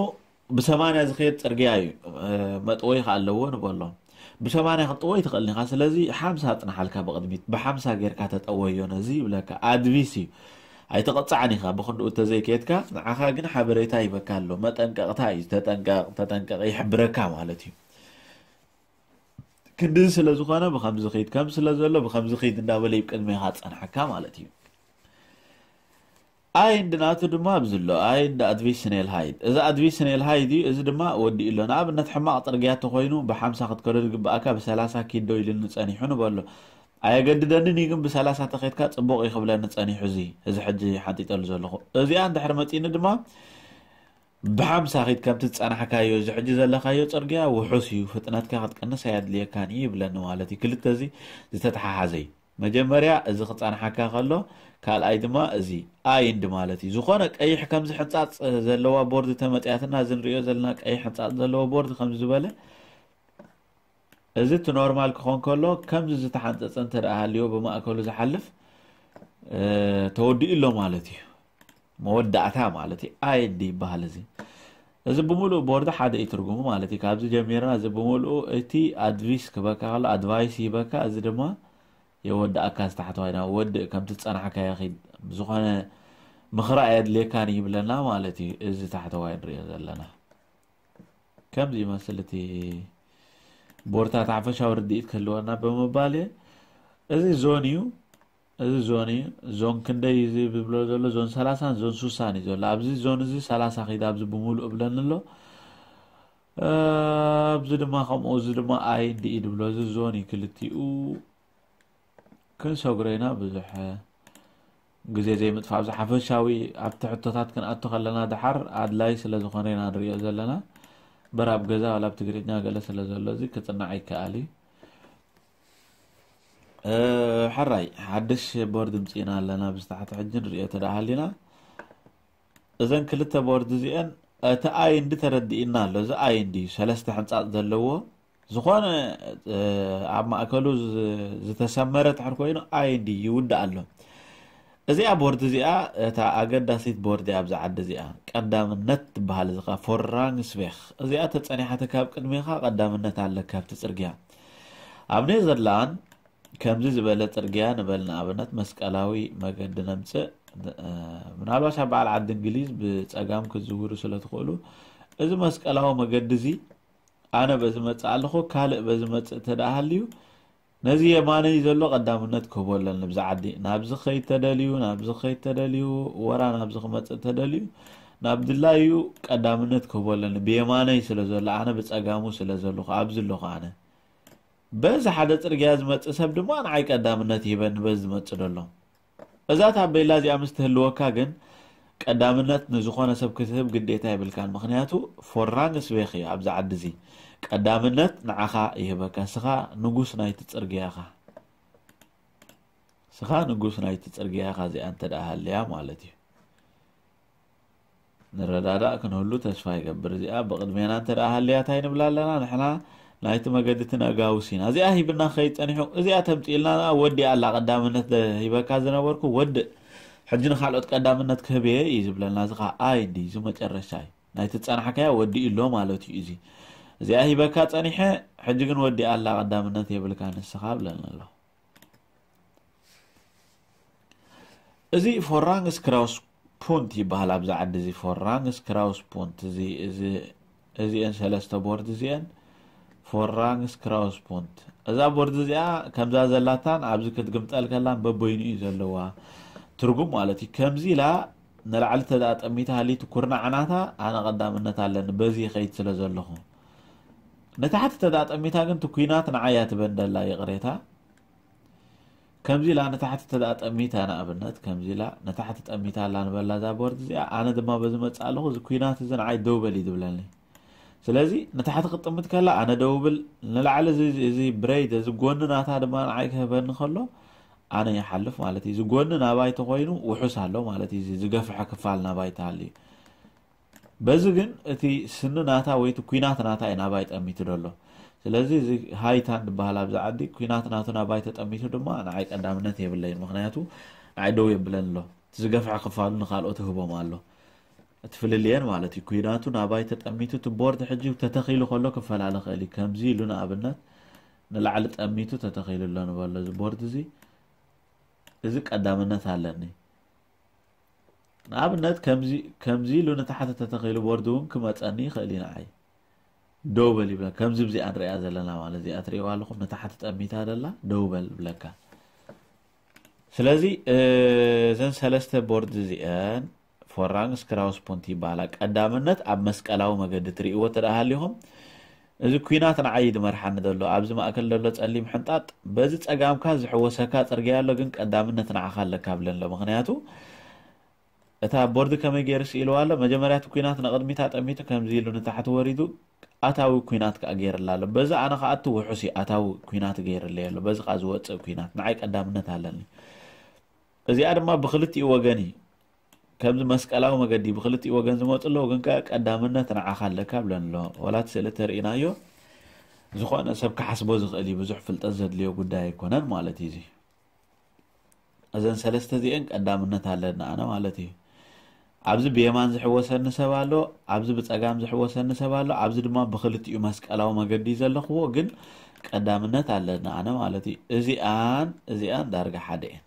ብሰማንያ ዝኸየድ ጽርግያ እዩ። እ፣ መጥወይ ከኣ ኣለዎ ንበሎ። ብሰማንያ ክትጥወይ ትኽእል ኢኻ። ስለዚ ሓምሳ ጽንሓልካ ብቕድሚት። ብሓምሳ ጌርካ ተጠወዮ ነዚ ይብለካ። ኣድቪስ እዩ። ኣይትቕጻዕን ኢኻ ብኽንድኡ እንተዘይከየድካ፣ ንዓኻ ግን ሓበሬታ ይበካ ኣሎ። መጠንቀቕታ እዩ። ተጠንቀቕ፣ ተጠንቀቕ ይሕብረካ ማለት እዩ። ክንድዚ ስለ ዝኾነ ብኸምዚ ኺድ፣ ከም ስለ ዘሎ ብኸምዚ ኺድ እንዳበለ እዩ ቅድሜኻ ጸንሓካ ማለት እዩ። ኣይንድ ናቱ ድማ ኣብዚ ኣሎ። ኣይንድ ኣድቪስ ስኔል ሃይድ። እዚ ኣድቪስ ስኔል ሃይድ እዩ። እዚ ድማ ወዲኡ ኣሎ። ንኣብነት ሕማቕ ጽርግያ ተኾይኑ ብሓምሳ ክትከዶ ዝግብኣካ ብሰላሳ ኪድ ዶ ኢሉኒ ጸኒሑ ንበሎ። ኣየገድደንን እዩ፣ ግን ብሰላሳ ተኸድካ ጽቡቕ እዩ ክብለኒ ጸኒሑ እዚ፣ እዚ ሕጂ ሓንጢጠሉ ዘለኹ። እዚኣ እንድሕር መጺኒ ድማ ብሓምሳ ኺድ ከምቲ ዝጸናሕካዮ፣ እዚ ሕጂ ዘለኻዮ ጽርግያ ውሑስ እዩ፣ ፍጥነትካ ክትቀንስ ኣየድልየካን እዩ ይብለኒ ማለት እዩ። ክልተ እዚ ዝተተሓሓዘ እዩ። መጀመርያ እዚ ክጸንሓካ ከሎ፣ ካልኣይ ድማ እዚ ኣይንድ ማለት እዩ። ዝኾነ ቀይሕ ከምዚ ሕንጻጽ ዘለዋ ቦርድ ተመጽያትና፣ እዚ ንርእዮ ዘለና ቀይሕ ሕንጻጽ ዘለዎ ቦርድ ከምዚ ዝበለ፣ እዚ እቲ ኖርማል ክኾን ከሎ፣ ከምዚ ዝተሓንጸጸ እንተ ደኣ ሃልዮ ብማእከሉ ዝሓልፍ፣ እ፣ ተወዲኡ ኣሎ ማለት እዩ። መወዳእታ ማለት እዩ። ኣይንድ ይበሃል እዚ። እዚ ብምሉእ ቦርድ ሓደ እዩ ትርጉሙ ማለት እዩ። ካብዚ ጀሚርና እዚ ብምሉእ እቲ ኣድቪስ ክበካ ከሎ፣ ኣድቫይስ ይበካ፣ እዚ ድማ የወድኣካ፣ እዚ ታሕተዋይ ናብ ወድእ፣ ከምቲ ዝጸናሕካዮ ኺድ፣ ዝኾነ ምኽሪ ኣየድልየካን ይብለና ማለት እዩ። እዚ ታሕተዋይ ንርእዮ ዘለና ከምዚ ይመስል። እቲ ቦርድታት ሓፈሻዊ ርድኢት ክህልወና ብምባል እየ። እዚ ዞን እዩ። እዚ ዞን እዩ። ዞን ክንደይ እዩ ዝብሎ ዘሎ? ዞን ሰላሳን ዞን ሱሳን እዩ ዘሎ። ኣብዚ ዞን እዚ ሰላሳ ኺድ ኣብዚ ብምሉእ እብለኒ ኣሎ። ኣብዚ ድማ ከምኡ፣ እዚ ድማ ኣይ እንዲ እዩ ዝብሎ። እዚ ዞን እዩ ክልቲኡ። ክንሰግሮ ኢና ብዙሕ ግዜ ዘይምጥፋእ። ኣብዚ ሓፈሻዊ ኣብቲ ሕቶታት ክንኣቱ ከለና ድሓር ኣድላይ ስለ ዝኾነ ኢና ንሪኦ ዘለና። በራብ ገዛ ዋላ ኣብ ትግርኛ ገለ ስለ ዘሎ እዚ ክጽናዕ ይከኣል እዩ። ሕራይ ሓድሽ ቦርድ ምፅእና ኣለና። ብዝታሕቲ ሕጂ ንሪኦ ተደኣ ሃሊና እዘን ክልተ ቦርድ እዚአን እቲ ኣይ እንዲ ተረዲእና ኣሎ። እዚ ኣይ እንዲ ሰለስተ ሕንፃፅ ዘለዎ ዝኾነ ኣብ ማእከሉ ዝተሰመረ ትሕር ኮይኑ ኣይ እንዲ ይውዳእ ኣሎ። እዚኣ ቦርድ እዚኣ እታ ኣገዳሲት ቦርድ እያ ኣብዚ ዓዲ እዚኣ። ቀዳምነት ትበሃል እዚ ኸዓ ፎራንግስቬኽ። እዚኣ ተጸኒሓ ካብ ቅድሜኻ ቀዳምነት ኣለካ ኣብቲ ጽርግያ። ኣብ ኔዘርላንድ ከምዚ ዝበለ ጽርግያ ንበል ንኣብነት መስቀላዊ መገዲ ነምጽእ። ምናልባሽ ኣብ በዓል ዓዲ እንግሊዝ ብጸጋም ክትዝውሩ ስለ ትኽእሉ እዚ መስቀላዊ መገዲ እዚ ኣነ በዚ መጽእ ኣለኹ ካልእ በዚ መጽእ ተደኣ ሃልዩ ነዚ የማነይ ዘሎ ቀዳምነት ክህቦ ኣለኒ። ብዚ ዓዲ ናብዚ ኸይድ ተደልዩ ናብዚ ኸይድ ተደልዩ ወራ ናብዚ ክመጽእ ተደልዩ ናብ ድላዩ ቀዳምነት ክህቦ ኣለኒ። ብየማነይ ስለ ዘሎ ኣነ ብጸጋሙ ስለ ዘለኹ ኣብዚ ኣለኹ ኣነ። በዚ ሓደ ጽርግያ ዝመጽእ ሰብ ድማ ንዓይ ቀዳምነት ይህበኒ በዚ ዝመጽእ ዘሎ። እዛ ታቤላ እዚኣ ምስ ትህልወካ ግን ቀዳምነት ንዝኾነ ሰብ ክትህብ ግዴታ የብልካን። ምኽንያቱ ፎራንግስቬኽ እዩ ኣብዚ ዓዲ እዚ። ቀዳምነት ንዓኻ ይህበካ። ስኻ ንጉስ ናይቲ ጽርግያ ኢኻ። ስኻ ንጉስ ናይቲ ጽርግያ ኢኻ እዚኣ እንተ ደኣ ሃልያ ማለት እዩ። ንረዳዳእ ክንህሉ ተስፋ ይገብር። እዚኣ ብቕድሜና እንተ ደኣ ሃልያ እንታይ ንብላ ኣለና? ንሕና ናይቲ መገዲ እቲ ነጋውስ ኢና። እዚኣ ሂብና ክኸይድ ጸኒሑ እዚኣ ተምጽእልና ወዲኣ ኣላ። ቀዳምነት ደ- ሂበካ ዝነበርኩ ወድእ። ሕጂ ንኻልኦት ቀዳምነት ክህብ እየ እዩ ዝብለና። እዚ ኸዓ ኣይ እንዲ እዚ መጨረሻ እዩ። ናይቲ ዝጸናሕካያ ወዲኡ ኣሎ ማለት እዩ። እዚ እዚኣ ሂበካ ጸኒሐ ሕጂ ግን ወዲኣ ኣላ ቀዳምነት የብልካ ንስኻ ብለና ኣሎ። እዚ ፎራንግስ ክራውስ ፑንት ይበሃል ኣብዚ ዓዲ እዚ። ፎራንግስ ክራውስ ፑንት እዚ እዚ እዚአን ሰለስተ ቦርድ እዚአን ፎራንግስ ክራውስ ፑንት። እዛ ቦርድ እዚኣ ከምዛ ዘላታን ኣብዚ ክትግምጠል ከላን በበይኑ እዩ ዘለዋ ትርጉም ማለት እዩ። ከምዚ ኢላ ንላዕሊ ተዳጠሚታ ሃሊቱ ኩርናዕ ናታ ኣነ ቀዳምነት ኣለኒ በዚ ይኸይድ ስለ ዘለኹ። ንታሕቲ ተዳጠሚታ ግን ትኩናት ንዓያ ትበንደላ ይቕሬታ። ከምዚ ኢላ ንታሕቲ ተደኣ ጠሚታ ንኣብነት ከምዚ ኢላ ንታሕቲ ጠሚታ ኣላ ንበላ እዛ ቦርድ እዚኣ ኣነ ድማ በዚ መፅእ ኣለኹ እዚ ኩናት እዚ ንዓይ ደው በል እዩ ዝብለኒ። ስለዚ ንታሕቲ ክትጥምት ከላ ኣነ ደው ብል ንላዕሊ እዚ እዚ ብረይድ እዚ ጎኒ ናታ ድማ ንዓይ ክህበኒ ከሎ ኣነ ይሓልፍ ማለት እዩ። እዚ ጎኒ ናባይ ተኮይኑ ውሑስ ኣሎ ማለት እዩ። እዚ ዝገፍሐ ክፋል ናባይ ተሃልዩ በዚ ግን እቲ ስኒ ናታ ወይ እቲ ኩናት ናታ እዩ ናባይ ጠሚቱ ዘሎ። ስለዚ እዚ ሃይታን ዝበሃል ኣብዚ ዓዲ ኩናት ናቱ ናባይ ተጠሚቱ ድማ ንዓይ ቀዳምነት የብለይን። ምክንያቱ ንዓይ ደው የብለን ኣሎ። እቲ ዝገፍሐ ክፋሉ ንካልኦት ይህቦም ኣሎ። እቲ ፍልልየን ማለት እዩ። ኩናቱ ናባይ ተጠሚቱ እቲ ቦርድ ሕጂ ተተኺሉ ከሎ ክፈላለ ክእል እዩ። ከምዚ ኢሉ ንኣብነት ንላዕሊ ጠሚቱ ተተኺሉ ኣሎ ንበሎ እዚ ቦርድ እዚ እዚ ቀዳምነት ኣለኒ። ንኣብነት ከምዚ ኢሉ ንታሕቲ ተተኺሉ ቦርድ እውን ክመፀኒ ይኽእል እዩ ንዓይ ደው በል ይብለ። ከምዚ ብዚኣ ንሪኣ ዘለና ማለት እዚኣ ትሪእዋ ኣለኹም ንታሕቲ ጠሚታ ደላ ደው በል ብለካ። ስለዚ እዘን ሰለስተ ቦርድ እዚአን ፎራንግስ ክራውስ ፑንት ይበሃላ። ቀዳምነት ኣብ መስቀላዊ መገዲ ትሪእዎ ተደኣ ሃሊኹም እዚ ኩናት ንዓይ ድመርሓኒ ዘሎ ኣብዚ ማእከል ዘሎ ጸሊም ሕንጣጥ በዚ ጸጋምካ ዝሕወሰካ ጽርግያ ኣሎ ግን ቀዳምነት ንዓኻ ኣለካ ብለን ኣሎ። ምኽንያቱ እታ ቦርድ ከመይ ገይሩ ስኢልዋ ኣሎ? መጀመርያ እቲ ኩናት ንቕድሚት ኣጠሚቱ ከምዚ ኢሉ ንታሕቲ ወሪዱ ኣታዊ ኩናት ከኣ ገይርላ ኣሎ። በዚ ኣነ ከኣቱ ውሑስ እዩ ኣታዊ ኩናት ገይርለይ ኣሎ። በዚ ከኣ ዝወጽእ ኩናት ንዓይ ቀዳምነት ኣለኒ። እዚኣ ድማ ብክልቲኡ ወገን እዩ። ከምዚ መስቀላዊ መገዲ ብክልቲኡ ወገን ዝመፁ ኣለዉ፣ ግን ከ ቀዳምነት ንዓኻ ኣለካ ብለን ኣሎ። ዋላ እቲ ስእሊ ተርእናዮ ዝኾነ ሰብ ክሓስቦ ዝኽእል እዩ፣ ብዙሕ ፍልጠት ዘድልዮ ጉዳይ ኣይኮነን ማለት እዩ። እዚ እዘን ሰለስተ እዚአን ቀዳምነት ኣለና ኣነ ማለት እዩ። ኣብዚ ብየማን ዝሕወሰኒ ሰብ ኣሎ፣ ኣብዚ ብፀጋም ዝሕወሰኒ ሰብ ኣሎ፣ ኣብዚ ድማ ብክልቲኡ መስቀላዊ መገዲ ዘለኽዎ ግን ቀዳምነት ኣለና ኣነ ማለት እዩ። እዚኣን እዚኣን ዳርጋ ሓደ እየን።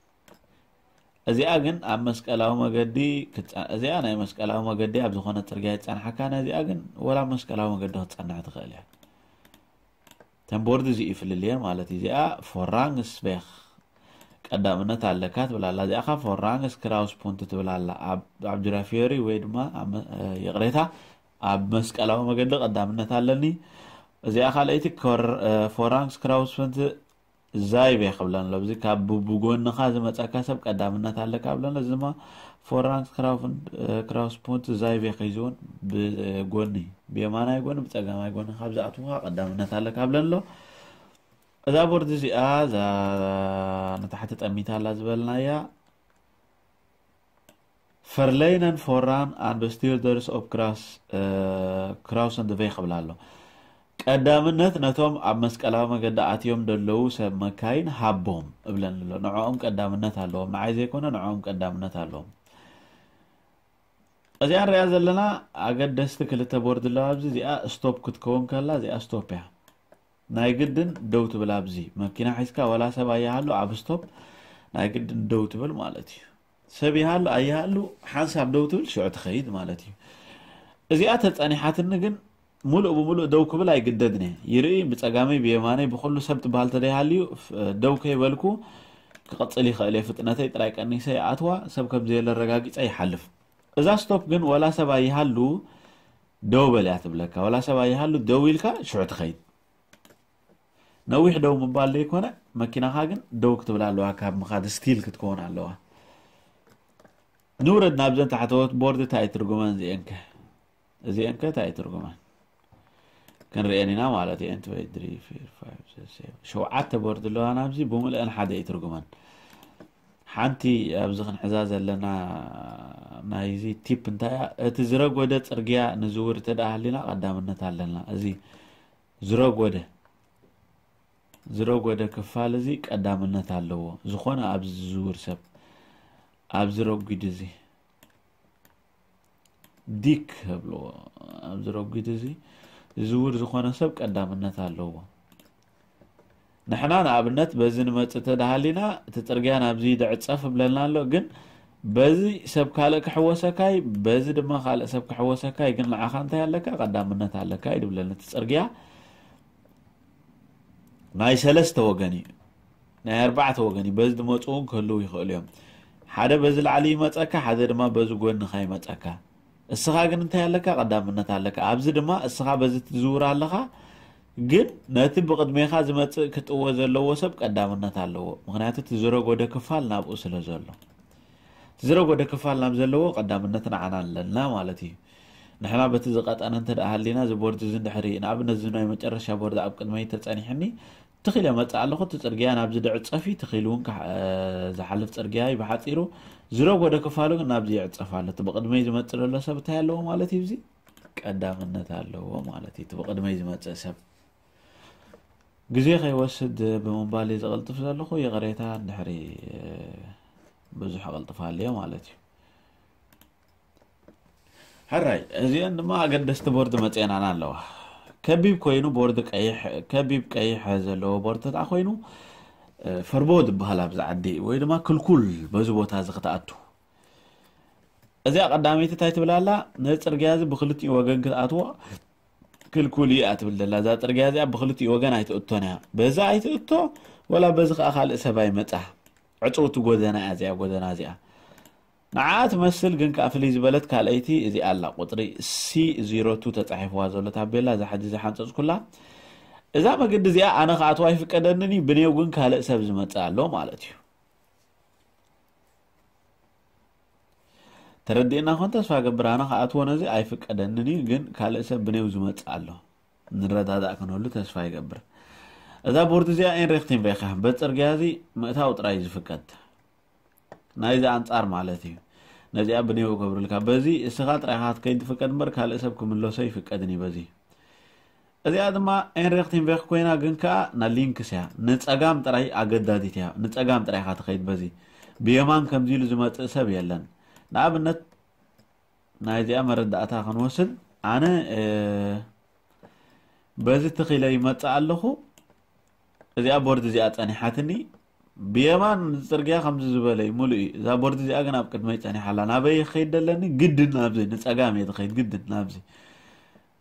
እዚኣ ግን ኣብ መስቀላዊ መገዲ ክትጸ- እዚኣ ናይ መስቀላዊ መገዲ ኣብ ዝኾነ ጽርግያ ይጸንሓካ፣ ነዚኣ ግን ወላ ኣብ መስቀላዊ መገዲ ክትጸንሕ ትኽእል እያ። ተን ቦርድ እዚ እዩ ፍልልየን ማለት እዩ። እዚኣ ፎራንግስቬኽ ቀዳምነት ኣለካ ትብል ኣላ። እዚኣ ኸዓ ፎራንግስ ክራውስ ፖንት ትብል ኣላ። ኣብ ጁራ ፊዮሪ ወይ ድማ ይቕሬታ፣ ኣብ መስቀላዊ መገዲ ቀዳምነት ኣለኒ። እዚኣ ካልኣይቲ ፎራንግስ ክራውስ ፖንት ዛይቤ ክብለን ኣሎ። እዚ ካብ ብጎንኻ ዝመፀካ ሰብ ቀዳምነት ኣለካ ብለን። እዚ ድማ ፎራንግስ ክራውስ ፖንት ዛይቤ ከይዝውን ብጎኒ፣ ብየማናይ ጎኒ፣ ብፀጋማይ ጎኒ ካብ ዝኣትውካ ቀዳምነት ኣለካ ብለን ኣሎ። እዛ ቦርድ እዚኣ እዛ ንታሕቲ ጠሚታ ኣላ ዝበልናያ ፈርለይነን ፎራን ኣንዶ ስቲርደርስ ኦፕ ክራስ ክራውሰን ድቬ ክብላ ኣሎ። ቀዳምነት ነቶም ኣብ መስቀላዊ መገዲ ኣትዮም ደለዉ ሰብ መካይን ሃቦም እብለን ኣሎ። ንዕኦም ቀዳምነት ኣለዎም፣ ንዓይ ዘይኮነ ንዕኦም ቀዳምነት ኣለዎም። እዚኣ ንሪኣ ዘለና ኣገደስቲ ክልተ ቦርድ ኣለዋ። ኣብዚ እዚኣ ስቶፕ ክትከውን ከላ እዚኣ ስቶፕ እያ። ናይ ግድን ደው ትብል ኣብዚ መኪና ሒዝካ ዋላ ሰብ ኣይሃሉ ኣብ ስቶፕ ናይ ግድን ደው ትብል ማለት እዩ። ሰብ ይሃሉ ኣይሃሉ ሓንሳብ ደው ትብል ሽዑ ትኸይድ ማለት እዩ። እዚኣ ተጸኒሓትኒ ግን ሙሉእ ብሙሉእ ደው ክብል ኣይግደድን እየ። ይርኢ ብጸጋመይ ብየማነይ ብኹሉ ሰብ ትበሃል ተደይሃልዩ ደው ከይበልኩ ክቕጽል ይኽእል እየ። ፍጥነተይ ጥራይ ቀኒሰ ይኣትዋ ሰብ ከም ዘየለ ኣረጋጊጸ ይሓልፍ። እዛ ስቶፕ ግን ዋላ ሰብ ኣይሃሉ ደው በል እያ ትብለካ። ዋላ ሰብ ኣይሃሉ ደው ኢልካ ሽዑ ትኸይድ። ነዊሕ ደው ምባል ዘይኮነ መኪናኻ ግን ደው ክትብል ኣለዋ። ካብ ምኻድ ስቲል ክትከውን ኣለዋ። ንውረድ ናብዘን ታሕተዎት ቦርድ እንታይ ትርጉመን እዚአንከ እዚአንከ እንታይ ትርጉመን ክንርእየን ኢና ማለት እዩ። ኤንት ወይ ድሪ ፊር ፋይቭ ሸውዓተ ቦርድ ኣለዋ ናብዚ ብምልአን ሓደ እዩ ትርጉመን። ሓንቲ ኣብዚ ክንሕዛ ዘለና ናይዚ ቲፕ እንታይ እያ? እቲ ዝረጎደ ጽርግያ ንዝውር እንተ ደኣ ሃሊና ቀዳምነት ኣለና። እዚ ዝረጎደ ዝረጎደ ክፋል እዚ ቀዳምነት ኣለዎ። ዝኾነ ኣብዚ ዝዝውር ሰብ ኣብዚ ረጒድ እዚ ዲክ ከብልዎ ኣብዚ ረጒድ እዚ ዝዝውር ዝኾነ ሰብ ቀዳምነት ኣለዎ። ንሕና ንኣብነት በዚ ንመጽእ ተደሃሊና እቲ ጽርግያ ናብዚ ይድዕጸፍ እብለልና ኣሎ። ግን በዚ ሰብ ካልእ ክሕወሰካይ በዚ ድማ ካልእ ሰብ ክሕወሰካይ ግን ንዓኻ እንታይ ኣለካ ቀዳምነት ኣለካ እዩ ድብለኒ። እቲ ጽርግያ ናይ ሰለስተ ወገን እዩ ናይ ኣርባዕተ ወገን እዩ። በዚ ድመፁ እውን ክህልው ይኽእሉ እዮም። ሓደ በዚ ላዕሊ ይመፀካ፣ ሓደ ድማ በዚ ጎንኻ ይመፀካ። እስኻ ግን እንታይ ኣለካ? ቀዳምነት ኣለካ። ኣብዚ ድማ እስኻ በዚ ትዝውር ኣለኻ፣ ግን ነቲ ብቕድሜኻ ዝመፅእ ክጥወ ዘለዎ ሰብ ቀዳምነት ኣለዎ። ምክንያቱ እቲ ዝረጎደ ክፋል ናብኡ ስለ ዘሎ፣ እቲ ዝረጎደ ክፋል ናብ ዘለዎ ቀዳምነት ንዓና ኣለና ማለት እዩ። ንሕና በቲ ዝቐጠነ እንተ ደኣ ሃሊና፣ እዚ ቦርድ እዚ እንድሕሪ፣ ንኣብነት፣ እዚ ናይ መጨረሻ ቦርድ ኣብ ቅድመይ ተጸኒሕኒ፣ ትኺል እየ መጽእ ኣለኹ፣ እቲ ጽርግያ ናብዚ ድዕጸፍ እዩ፣ ትኺል እውን ካሕ-፣ እ፣ ዝሓልፍ ጽርግያ እዩ ብሓጺሩ፣ ዝረጎደ ክፋሉ ግን ናብዚ ይዕጸፍ ኣሎ። እቲ ብቕድመይ ዝመጽእ ዘሎ ሰብ እንታይ ኣለዎ ማለት እዩ? እዚ ቀዳምነት ኣለዎ ማለት እዩ፣ እቲ ብቕድመይ ዝመጽእ ሰብ። ግዜ ከይወስድ ብምባል እየ ዘቐልጥፍ ዘለኹ፣ ይቕሬታ እንድሕሪ፣ እ፣ ብዙሕ ኣቐልጥፍ ኣለዮ ማለት እዩ። ሕራይ፣ እዚአን ድማ ኣገደስቲ ቦርድ መፅኤናና ኣለዋ። ከቢብ ኮይኑ ቦርድ ቀይሕ፣ ከቢብ ቀይሕ ዘለዎ ቦርድ ተደኣ ኮይኑ፣ እ፣ ፈርቦ ዝበሃል ኣብዚ ዓዲ ወይ ድማ ክልኩል በዚ ቦታ እዚ ክትኣቱ። እዚኣ ቀዳመይቲ እንታይ ትብል ኣላ? ነዚ ፅርግያ እዚ ብክልቲኡ ወገን ክትኣትዎ ክልኩል እዩ እያ ትብል ዘላ። እዛ ፅርግያ እዚኣ ብክልቲኡ ወገን ኣይትእቶን እያ። በዛ ኣይትእቶ፣ ወላ በዚ ከዓ ካልእ ሰብ ኣይመፃ። ዕፅውቲ ጎደና እያ እዚኣ፣ ጎደና እዚኣ። ንዓ ትመስል ግን ከኣ ፍልይ ዝበለት ካልኣይቲ እዚኣ ኣላ፣ ቁጽሪ ሲ ዜሮ ቱ ተጻሒፍዋ ዘሎ ታቤላ፣ እዛ ሕጂ ዝሓንጸጽኩላ። እዛ መገዲ እዚኣ ኣነ ክኣትዋ ኣይፍቀደንን እዩ፣ ብኔው ግን ካልእ ሰብ ዝመጽእ ኣሎ ማለት እዩ። ተረዲእና ኮን ተስፋ ገብር፣ ኣነ ክኣትዎ ነዚ ኣይፍቀደንን እዩ፣ ግን ካልእ ሰብ ብኔው ዝመጽእ ኣሎ። ንረዳዳእ ክንህሉ ተስፋ ይገብር። እዛ ቦርድ እዚኣ ኤንሪክቲን ቬኻ፣ በጽርግያ እዚ ምእታው ጥራይ እዩ ዝፍቀድ። ናይዚ ኣንጻር ማለት እዩ። ነዚኣ ብኔው ገብርልካ። በዚ እስኻ ጥራይኻ ክትከይድ ትፍቀድ እምበር ካልእ ሰብ ክምለሶ ይፍቀድን እዩ በዚ። እዚኣ ድማ ኤንሪክቲን ቬኽ ኮይና ግን ከኣ ና ሊንክስ እያ። ንጸጋም ጥራይ ኣገዳዲት እያ። ንጸጋም ጥራይ ኢኻ ትኸይድ በዚ። ብየማን ከምዚ ኢሉ ዝመጽእ ሰብ የለን። ንኣብነት ናይዚኣ መረዳእታ ክንወስድ፣ ኣነ፣ እ፣ በዚ ትኺለ ይመጽእ ኣለኹ። እዚኣ ቦርድ እዚኣ ጸኒሓትኒ። ብየማን ጽርግያ ከምዚ ዝበለ እዩ፣ ሙሉእ እዩ። እዛ ቦርድ እዚኣ ግን ኣብ ቅድመይ ጸኒሓ ኣላ። ናበይ ክኸይድ ደለኒ? ግድን ናብዚ፣ ንጸጋም እየ ዝኸይድ፣ ግድን ናብዚ።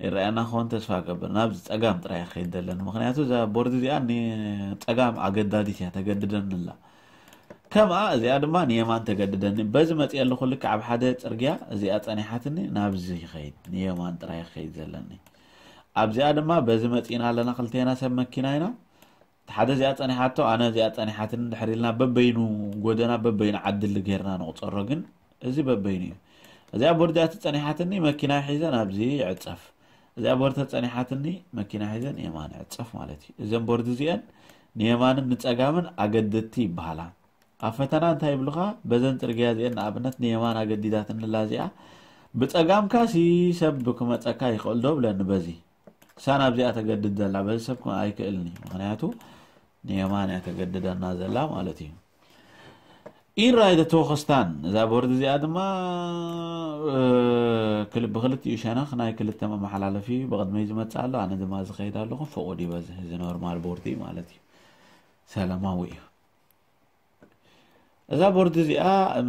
ይረኣየና ክኸውን ተስፋ እገብር። ናብዚ ጸጋም ጥራይ ክኸይድ ደለኒ። ምኽንያቱ እዛ ቦርድ እዚኣ ንጸጋም ኣገዳዲት እያ፣ ተገድደኒ ኣላ። ከምኣ እዚኣ ድማ ንየማን ተገድደኒ። በዚ መፅእ ኣለኹ ልክዕ ኣብ ሓደ ፅርግያ እዚኣ ፀኒሓትኒ ናብዚ ይኸይድ፣ ንየማን ጥራይ ይኸይድ ዘለኒ። ኣብዚኣ ድማ በዚ መፂእና ኣለና፣ ክልቴና ሰብ መኪና ኢና። ሓደ እዚኣ ፀኒሓቶ፣ ኣነ እዚኣ ፀኒሓትኒ ድሕር ኢልና በበይኑ ጎደና በበይኑ ዓድሊ ጌርና ንቁፀሮ። ግን እዚ በበይኑ እዩ። እዚኣ ቦርድ እዚኣ ተፀኒሓትኒ መኪና ሒዘ ናብዚ ይዕፀፍ። እዚኣ ቦርድ ተፀኒሓትኒ መኪና ሒዘ ንየማን ይዕፀፍ ማለት እዩ። እዘን ቦርድ እዚአን ንየማንን ንፀጋምን ኣገደድቲ ይበሃላ። ኣብ ፈተና እንታይ ይብሉኻ? በዘን ፅርግያ እዚአን ንኣብነት ንየማን ኣገዲዳትንላ እዚኣ ብፀጋምካ ሲ ሰብ ክመፀካ ይኽእል ዶ ብለኒ። በዚ ክሳን ኣብዚኣ ተገድድ ዘላ በዚ ሰብ ክመ- ኣይክእልኒ። ምክንያቱ ንየማን እያ ተገድደና ዘላ ማለት እዩ። ኢራይ ደ ቶኸስታን እዛ ቦርድ እዚኣ ድማ ክል- ብክልቲኡ ሸነኽ ናይ ክልተ መመሓላለፊ ብቕድመይ ዝመፅእ ኣሎ። ኣነ ድማ ዝኸይድ ኣለኹ። ፍቑድ እዩ በዚ፣ እዚ ኖርማል ቦርድ እዩ ማለት እዩ። ሰላማዊ እዩ። እዛ ቦርድ እዚኣ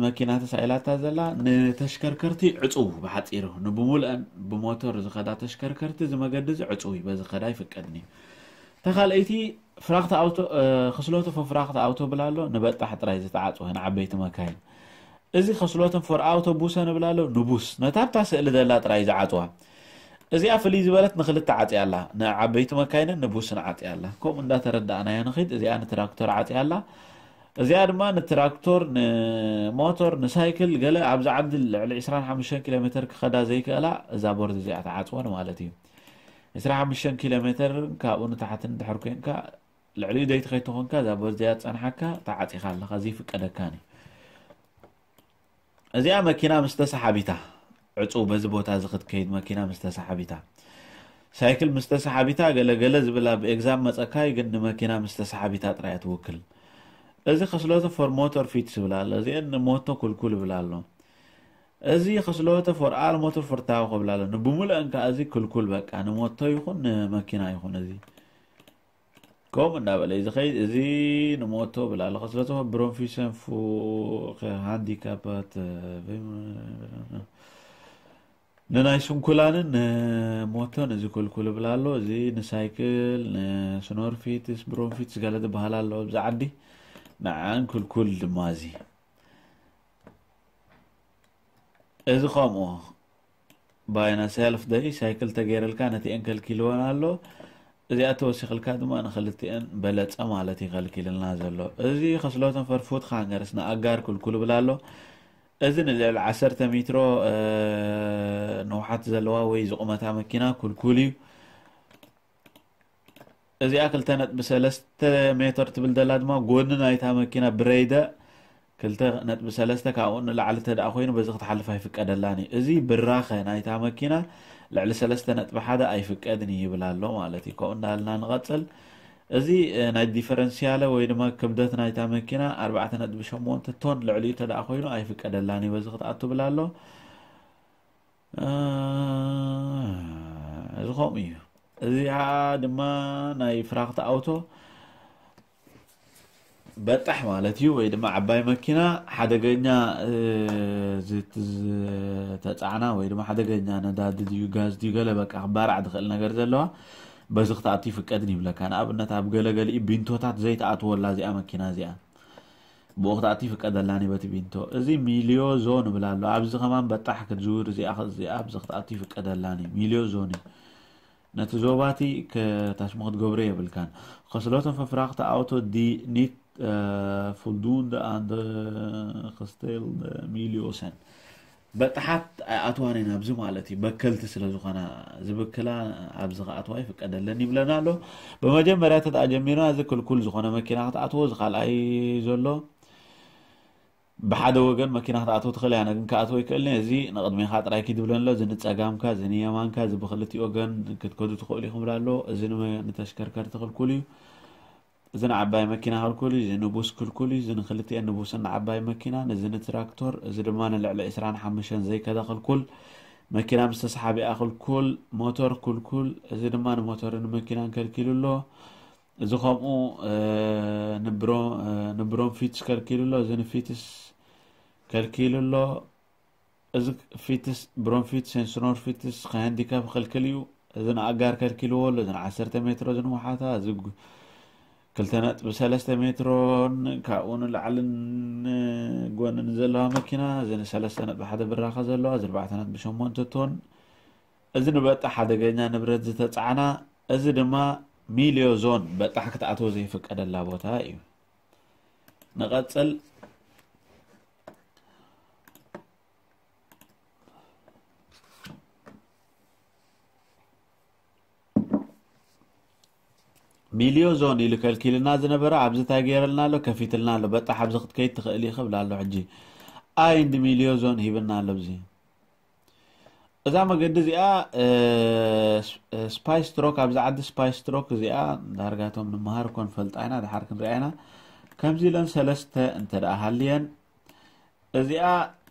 መኪና ተሳኢላታ ዘላ ንተሽከርከርቲ ዕፁው፣ ብሓፂሩ ንብሙልአን ብሞተር ዝኸዳ ተሽከርከርቲ እዚ መገዲ እዚ ዕፁው እዩ፣ በዚ ከዳ ይፍቀድን እዩ። ተኻልአይቲ ፍራክት ኣውቶ፣ እ፣ ክስሎቱ ፈፍራክት ኣውቶ ብላ ኣሎ፣ ንበጣሕ ጥራይ ዝተዓፅወ ንዓበይቲ መካይን። እዚ ከስሎትን ፎር ኣውቶቡሰ ንብላ ኣሎ፣ ንቡስ ነታ ኣብታ ስእሊ ዘላ ጥራይ ዝዓፅዋ። እዚኣ ፍልይ ዝበለት ንክልተ ዓፅያ ኣላ፣ ንዓበይቲ መካይንን ንቡስን ዓፅያ ኣላ። ከምኡ እንዳተረዳእናዮ ንኺድ። እዚኣ ንትራክተር ዓፅያ ኣላ። እዚኣ ድማ ንትራክቶር፣ ንሞቶር፣ ንሳይክል ገለ ኣብዚ ዓዲ ልዕሊ ዕስራን ሓሙሽተን ኪሎ ሜትር ክኸዳ ዘይክእላ እዛ ቦርድ እዚኣ ትዓፅወን ማለት እዩ። ዕስራን ሓሙሽተን ኪሎ ሜትር ካብኡ ንታሕቲ እንድሕር ኮንካ ልዕሊኡ ዘይትኸይድ ተኾንካ እዛ ቦርድ እዚኣ ትፀንሓካ ተዓፂኻ ኣለኻ፣ ዘይፍቀደካን እዩ። እዚኣ መኪና ምስ ተሰሓቢታ ዕፁ በዚ ቦታ እዚ ክትከይድ መኪና ምስ ተሰሓቢታ ሳይክል ምስ ተሰሓቢታ ገለገለ ዝብል ኣብ ኤግዛም መፀካይ ግን ንመኪና ምስ ተሰሓቢታ ጥራይ ትውክል። እዚ ከስሎተ ፎር ሞተር ፊትስ ይብል ኣሎ። እዚአን ንሞቶ ክልኩል ይብል ኣሎ። እዚ ከስሎተ ፎር ኣል ሞተር ፎርታው ክብል ኣሎ። ንብሙሉአን ከዓ እዚ ክልኩል በቃ ንሞቶ ይኹን ንመኪና ይኹን እዚ ከምኡ እንዳበለ እዩ ዝኸይድ። እዚ ንሞቶ ይብል ኣሎ። ከስሎተ ብሮንፊሰን ፉ ሃንዲካፓት ንናይ ስንኩላንን ንሞቶን እዚ ክልኩል ይብል ኣሎ። እዚ ንሳይክል ንስኖርፊትስ ብሮንፊትስ ገለ ዝበሃል ኣሎ ኣብዚ ዓዲ ንዓን ክልኩል ድማ እዚ እዚ ከምኡ ባይና ሰልፍ ደይ ሳይክል ተገይረልካ ነቲአን ከልኪልወን ኣሎ። እዚኣ ተወሲኽልካ ድማ ንክልቲአን በለፀ ማለት ይኸልኪልና ዘሎ። እዚ ከስሎትን ፈርፉት ካንገርስ ንኣጋር ክልኩል ይብል ኣሎ። እዚ ንልዕሊ ዓሰርተ ሜትሮ ንውሓት ዘለዋ ወይ ዝቑመታ መኪና ክልኩል እዩ። እዚኣ ክልተ ነጥቢ ሰለስተ ሜትር ትብል ዘላ ድማ ጎኒ ናይታ መኪና ብረይደ ክልተ ነጥቢ ሰለስተ ካብኡ ንላዕሊ ተደኣ ኮይኑ በዚ ክትሓልፍ ኣይፍቀደላን እዩ። እዚ ብራኸ ናይታ መኪና ልዕሊ ሰለስተ ነጥቢ ሓደ ኣይፍቀድን እዩ ይብል ኣሎ ማለት እዩ። ከምኡ እንዳልና ንቐፅል። እዚ ናይ ዲፈረንሲያለ ወይ ድማ ክብደት ናይታ መኪና ኣርባዕተ ነጥቢ ሸሞንተ ቶን ልዕሊኡ ተደኣ ኮይኑ ኣይፍቀደላን እዩ በዚ ክትኣቱ ይብል ኣሎ። እዚ ከምኡ እዩ። እዚኣ ድማ ናይ ፍራክት ኣውቶ በጣሕ ማለት እዩ ወይ ድማ ዓባይ መኪና ሓደገኛ ዝተፃዕና ወይ ድማ ሓደገኛ ነዳዲ ድዩ ጋዝ ድዩ ገለ በቃ ክባራዕ ዝኽእል ነገር ዘለዋ በዚ ክትኣቱ ይፍቀድን ይብለካ። ንኣብነት ኣብ ገለገሊኡ ቢንቶታት ዘይትኣትወላ እዚኣ መኪና እዚኣ ብኡ ክትኣቱ ይፍቀደላን እዩ በቲ ቢንቶ። እዚ ሚልዮ ዞን ይብል ኣሎ። ኣብዚ ከማን በጣሕ ክትዝውር እዚኣ ኣብዚ ክትኣቱ ይፍቀደላን እዩ። ሚልዮ ዞን እዩ። ነቲ ዞባቲ ከታሽሙ ክትገብሮ የብልካን። ከስሎትን ፈፍራክተ ኣውቶ ዲ ኒት ፉልዱንደ ኣንደ ክስቴል ሚልዮሰን በጣሓት ኣይኣትዋን እየን ኣብዚ ማለት እዩ። በከልቲ ስለ ዝኾና ዝብክላ ኣብዚ ክኣትዋ ይፍቀደለን ይብለና ኣሎ። ብመጀመርያ ተደኣ ጀሚርና እዚ ክልኩል ዝኾነ መኪና ክትኣትዎ እዚ ካልኣይ ዘሎ ብሓደ ወገን መኪና ክትኣትዎ ትኽእል እያ ግን ክኣትዎ ይክእልን እዚ ንቕድሜኻ ጥራይ ኪድ ብለን ኣሎ። እዚ ንፀጋምካ እዚ ንየማንካ እዚ ብክልቲ ወገን ክትከዱ ትኽእሉ ይኽብል ኣሎ። እዚ ንመ- ንተሽከርከርቲ ክልኩል እዩ። እዚ ንዓባይ መኪና ክልኩል እዩ፣ እዚ ንቡስ ክልኩል እዩ፣ እዚ ንክልቲኤን ንቡስን ንዓባይ መኪናን፣ እዚ ንትራክቶር፣ እዚ ድማ ንልዕሊ ዕስራን ሓሙሽተን ዘይከዳ ክልኩል፣ መኪና ምስ ተሰሓቢኣ ክልኩል፣ ሞቶር ክልኩል፣ እዚ ድማ ንሞቶርን መኪናን ከልኪሉ ኣሎ። እዚ ከምኡ ንብሮንፊትስ ከልኪሉ ኣሎ፣ እዚ ንፊትስ ከልኪሉ ኣሎ። እዚ ፊትስ ብሮንፊት ሴንስኖር ፊትስ ከሃንዲካፕ ክልክል እዩ። እዚ ንኣጋር ከልኪልዎ ኣሎ። እዚ ንዓሰርተ ሜትሮ እዚ ንውሓታ እዚ ክልተ ነጥቢ ሰለስተ ሜትሮን ካብኡ ንላዕልን ጎንን ዘለዋ መኪና፣ እዚ ንሰለስተ ነጥቢ ሓደ ብራኸ ዘለዋ፣ እዚ ኣርባዕተ ነጥቢ ሸሞንተ ቶን፣ እዚ ንበጣሕ ሓደገኛ ንብረት ዝተጻዕና፣ እዚ ድማ ሚልዮ ዞን በጣሕ ክትኣትዎ ዘይፍቀደላ ቦታ እዩ። ንቐጽል። ሚልዮ ዞን ኢሉ ከልኪልና ዝነበረ ኣብዚ እንታይ ገይረልና ኣሎ? ከፊትልና ኣሎ። በጣሕ ኣብዚ ክትከይድ ትኽእል ኢኺ ብላ ኣሎ። ሕጂ ኣይ እንዲ ሚልዮ ዞን ሂብና ኣሎ። ኣብዚ እዛ መገዲ እዚኣ ስፓይስ ትሮክ፣ ኣብዚ ዓዲ ስፓይስ ትሮክ እዚኣ ዳርጋቶም ንምሃር ኮን ፈልጣ ኢና፣ ድሓር ክንሪኣ ኢና። ከምዚ ኢለን ሰለስተ እንተ ደኣ ሃልየን፣ እዚኣ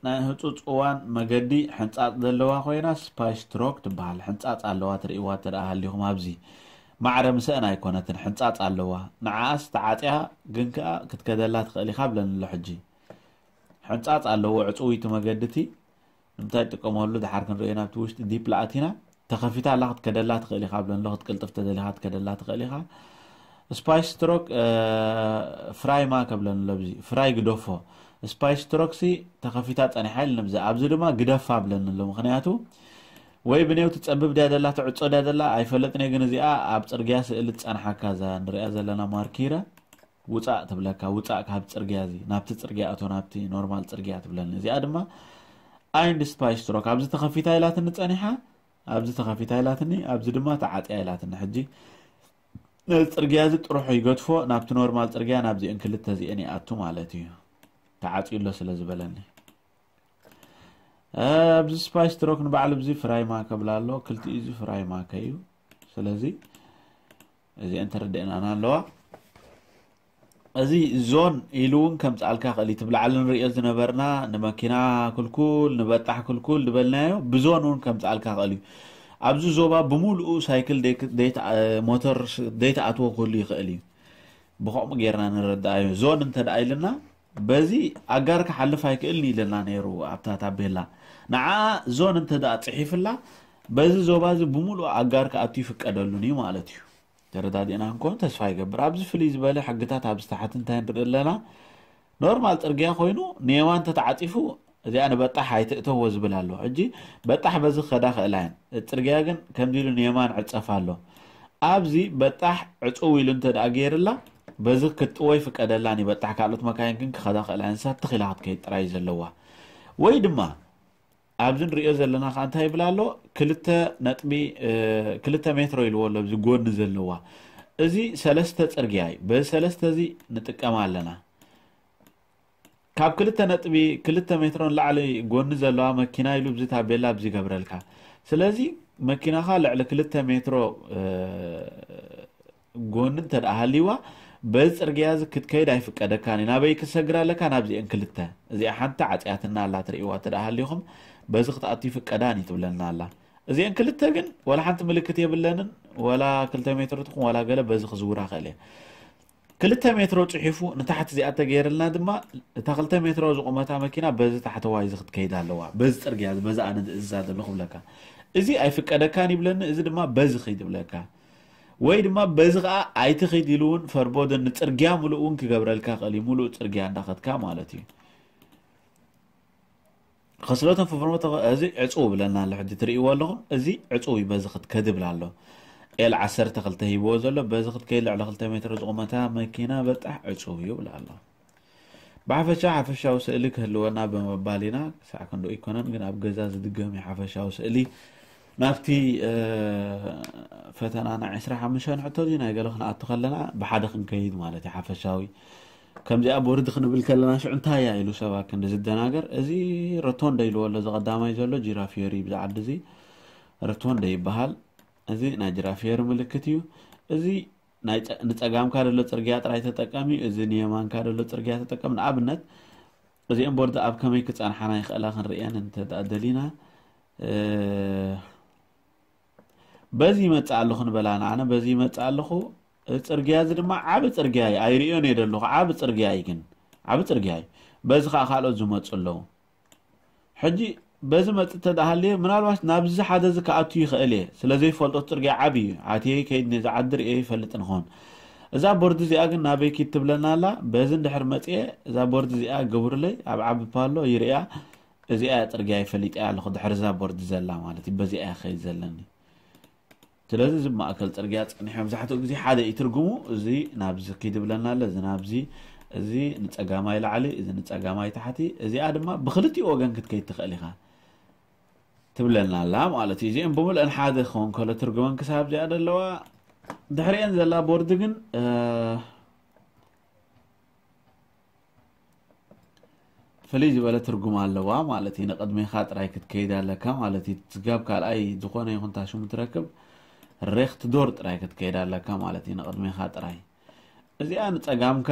ናይ ህጹጽ እዋን መገዲ ሕንጻጽ ዘለዋ ኮይና ስፓይስ ትሮክ ትበሃል። ሕንጻጽ ኣለዋ፣ ትርእይዋ እንተ ደኣ ሃሊኹም ኣብዚ ማዕረ ምስአን ኣይኮነትን፣ ሕንጻጽ ኣለዋ። ንዓኣስ ተዓጽያ ግን ከኣ ክትከደላ ትኽእል ኢኻ ብለኒ ኣሎ። ሕጂ ሕንጻጽ ኣለዎ ዕጽውይቲ መገዲ እቲ። ንምንታይ ትጥቀመሉ ድሓር ክንርእዮ ናብቲ ውሽጢ ዲፕ ለኣቲና። ተኸፊታ ኣላ ክትከደላ ትኽእል ኢኻ ብለን ኣሎ። ክትቅልጥፍ ተደሊኻ ክትከደላ ትኽእል ኢኻ። ስፓይስ ትሮክ ፍራይ ማከ ብለን ኣሎ። ኣብዚ ፍራይ ግደፎ። ስፓይስ ትሮክ ሲ ተኸፊታ ጸኒሓ ኢል ንብዚ ኣብዚ ድማ ግደፋ ብለን ኣሎ። ምኽንያቱ ወይ ብኔው ትጸብብ ድያ ደላ ትዕጾ ድያ ደላ ኣይፈለጥን እየ፣ ግን እዚኣ ኣብ ጽርግያ ስእሊ ትጸንሓካ እዛ ንሪኣ ዘለና ማርኪረ ውጻእ ትብለካ። ውጻእ ካብ ጽርግያ እዚ ናብቲ ጽርግያ እቶ ናብቲ ኖርማል ጽርግያ ትብለኒ። እዚኣ ድማ ኣይ እንዲ ስፓይስ ትሮክ ኣብዚ ተኸፊታ ኢላትኒ ጸኒሓ፣ ኣብዚ ተኸፊታ ኢላትኒ፣ ኣብዚ ድማ ተዓጽያ ኢላትኒ። ሕጂ ነዚ ጽርግያ እዚ ጥርሑ ይገድፎ፣ ናብቲ ኖርማል ጽርግያ ናብዚአን ክልተ እዚአን ይኣቱ ማለት እዩ። ተዓጽዩ ኣሎ ስለ ዝበለኒ። ኣብዚ ስፓይስ ትሮክ ንባዕሉ እዚ ፍራይ ማከ ብላ ኣሎ፣ ክልቲኡ እዚ ፍራይ ማከ እዩ። ስለዚ እዚአን ተረድአናና ኣለዋ። እዚ ዞን ኢሉ እውን ከምፅኣልካ ክእል እዩ። ትብላዕሊ ንሪኦ ዝነበርና ንመኪና ክልኩል፣ ንበጣሕ ክልኩል ዝበልናዮ ብዞን እውን ከምፅኣልካ ክእል እዩ። ኣብዚ ዞባ ብምሉኡ ሳይክል ደይ-፣ ደይተ-፣ ሞተር ስ-፣ ደይተኣትዎ ክህሉ ይኽእል እዩ። ብኸምኡ ጌርና ንረዳእዮ። ዞን እንተ ደኣ ኢልና በዚ ኣጋር ክሓልፍ ኣይክእልን ኢልና ነይሩ ኣብታ ታቤላ። ንዓ ዞን እንተ ደኣ ጽሒፍላ በዚ ዞባ እዚ ብምሉኡ ኣጋር ክኣቱ ይፍቀደሉን እዩ ማለት እዩ። ተረዳዲእና እንኮን ተስፋ ይገብር። ኣብዚ ፍልይ ዝበለ ሕግታት ኣብዚ ታሕቲ እንታይ ንርኢ ኣለና? ኖርማል ጽርግያ ኮይኑ ንየማን ተተዓጺፉ እዚኣ ንበጣሕ ኣይትእተዎ ዝብል ኣሎ። ሕጂ በጣሕ በዚ ክኸዳ ክእላ እየን። ጽርግያ ግን ከምዚ ኢሉ ንየማን ዕጸፍ ኣሎ። ኣብዚ በጣሕ ዕጽው ኢሉ እንተ ደኣ ገይርላ በዚ ክትጥዎ ይፍቀደላን እዩ። በጣሕ ካልኦት መካይን ግን ክኸዳ ክእላ እየን። ንሳ ትኽ ኢላ ክትከይድ ጥራይ እዩ ዘለዋ። ወይ ድማ ኣብዚ ንሪኦ ዘለና ከዓ እንታይ ይብል ኣሎ? ክልተ ነጥቢ፣ እ፣ ክልተ ሜትሮ ኢልዎ ኣሎ ኣብዚ ጎኒ ዘለዋ። እዚ ሰለስተ ጽርግያ እዩ። በዚ ሰለስተ እዚ ንጥቀም ኣለና። ካብ ክልተ ነጥቢ ክልተ ሜትሮ ንላዕሊ ጎኒ ዘለዋ መኪና ኢሉ ኣብዚ ታቤላ ኣብዚ ይገብረልካ። ስለዚ መኪናኻ ልዕሊ ክልተ ሜትሮ፣ እ፣ ጎኒ እንተ ደኣ ሃልይዋ በዚ ጽርግያ እዚ ክትከይድ ኣይፍቀደካን እዩ። ናበይ ክትሰግር ኣለካ? ናብዚአን ክልተ። እዚኣ ሓንቲ ዓጽያትና ኣላ ትርእይዋ እንተ ደኣ ሃሊኹም በዚ ክትኣቱ ይፍቀዳን እዩ ትብለና ኣላ። እዚአን ክልተ ግን ወላ ሓንቲ ምልክት የብለንን። ወላ ክልተ ሜትሮ ትኹን ወላ ገለ በዚ ክዝውራ ክእል እየ። ክልተ ሜትሮ ጽሒፉ ንታሕቲ እዚኣ ተገይርልና ድማ እታ ክልተ ሜትሮ ዝቑመታ መኪና በዚ ታሕተዋይ እዚ ክትከይድ ኣለዋ። በዚ ጽርግያ እዚ፣ በዚ ኣነ ዝእዝዛ ዘለኹ ብለካ። እዚ ኣይፍቀደካን ይብለኒ፣ እዚ ድማ በዚ ኺድ ይብለካ። ወይ ድማ በዚ ኸኣ ኣይትኺድ ኢሉ እውን ፈርቦደን ንጽርግያ ምሉእ እውን ክገብረልካ ክእል እዩ። ምሉእ ጽርግያ እንዳኸድካ ማለት እዩ። ኸስሎትን ፍፍርሞቶ እዚ ዕጹው ብለና ኣሎ። ሕጂ ትርእይዎ ኣለኹም፣ እዚ ዕጹው እዩ። በዚ ክትከድ ይብል ኣሎ። ኤል ዓሰርተ ክልተ ሂብዎ ዘሎ፣ በዚ ክትከይድ ልዕሊ ክልተ ሜትሮ ዝቑመታ መኪና በጣሕ ዕጹው እዩ ይብል ኣሎ። ብሓፈሻ ሓፈሻዊ ስእሊ ክህልወና ብምባል ኢና። ክሳዕ ክንድኡ ኣይኮነን፣ ግን ኣብ ገዛ ዝድገም እዩ ሓፈሻዊ ስእሊ። ናብቲ፣ እ፣ ፈተና ናይ ዕስራ ሓሙሽተ ሕቶ እዚ ናይ ገለ ክንኣቱ ከለና ብሓደ ክንከይድ ማለት እዩ ሓፈሻዊ። ከምዚኣ ቦርድ ክንብል ከለና ሽዑ እንታይ እያ ኢሉ ሰብ ኣክንዲ ዝደናገር። እዚ ሮቶንደ ኢልዎ ኣሎ፣ እዚ ቀዳማይ ዘሎ ጂራፊየሪ ብዚ ዓዲ እዚ ሮቶንደ ይበሃል። እዚ ናይ ጂራፊየሪ ምልክት እዩ። እዚ ናይ ጸ-፣ ንጸጋምካ ዘሎ ጽርግያ ጥራይ ተጠቀም እዩ። እዚ ንየማንካ ዘሎ ጽርግያ ተጠቀም። ንኣብነት እዚአን ቦርድ ኣብ ከመይ ክጸንሓና ይኽእላ ክንርእየን እንተ ደኣ ደሊና፣ እ፣ በዚ ይመጽእ ኣለኹ ንበላ ንኣነ፣ በዚ ይመጽእ ኣለኹ። እዚ ጽርግያ እዚ ድማ ዓቢ ጽርግያ እዩ፣ ኣይርእዮን እየ ዘለኹ፣ ዓቢ ጽርግያ እዩ ግን፣ ዓቢ ጽርግያ እዩ። በዚ ኸኣ ካልኦት ዝመጹ ኣለዉ። ሕጂ በዚ መጽእ እንተ ደኣ ሃልየ፣ ምናልባት ናብዚ ሓደ እዚ ክኣቱ ይኽእል እየ፣ ስለ ዘይፈልጦ እቲ ጽርግያ ዓቢ እዩ። ኣትየ ከይድ ነዚ ዓዲ ርእየ ይፈልጥን ኸውን። እዛ ቦርድ እዚኣ ግን ናበይ ኪድ ትብለና ኣላ? በዚ እንድሕር መፅኤ እዛ ቦርድ እዚኣ ግብሩለይ ኣብ ዓቢ ፓሎ ይርእያ። እዚኣ እያ ፅርግያ ይፈሊጠያ ኣለኹ፣ ድሕሪ እዛ ቦርድ ዘላ ማለት እዩ። በዚኣ እያ ከይድ ዘለኒ። ስለዚ እዚ ማእከል ፅርግያ ፀኒሑ መብዛሕትኡ ግዜ ሓደ እዩ ትርጉሙ። እዚ ናብዚ ኪድ ብለና ኣሎ፣ እዚ ናብዚ፣ እዚ ንፀጋማይ ላዕሊ፣ እዚ ንፀጋማይ ታሕቲ። እዚኣ ድማ ብክልቲኡ ወገን ክትከይድ ትኽእል ኢኻ ትብለና ኣላ ማለት እዩ። እዚኦም ብምልአን ሓደ ክኸውን ከሎ ትርጉመን ክሳብ እዚኣ ዘለዋ፣ ድሕሪአን ዘላ ቦርድ ግን ፍልይ ዝበለ ትርጉም ኣለዋ ማለት እዩ። ንቕድሜኻ ጥራይ ክትከይድ ኣለካ ማለት እዩ። ስጋብ ካልኣይ ዝኾነ ይኹን ታሽሙ ትረክብ ሬኽት ዶር ጥራይ ክትከይድ ኣለካ ማለት እዩ። ንቕድሜኻ ጥራይ እዚኣ ንጸጋምካ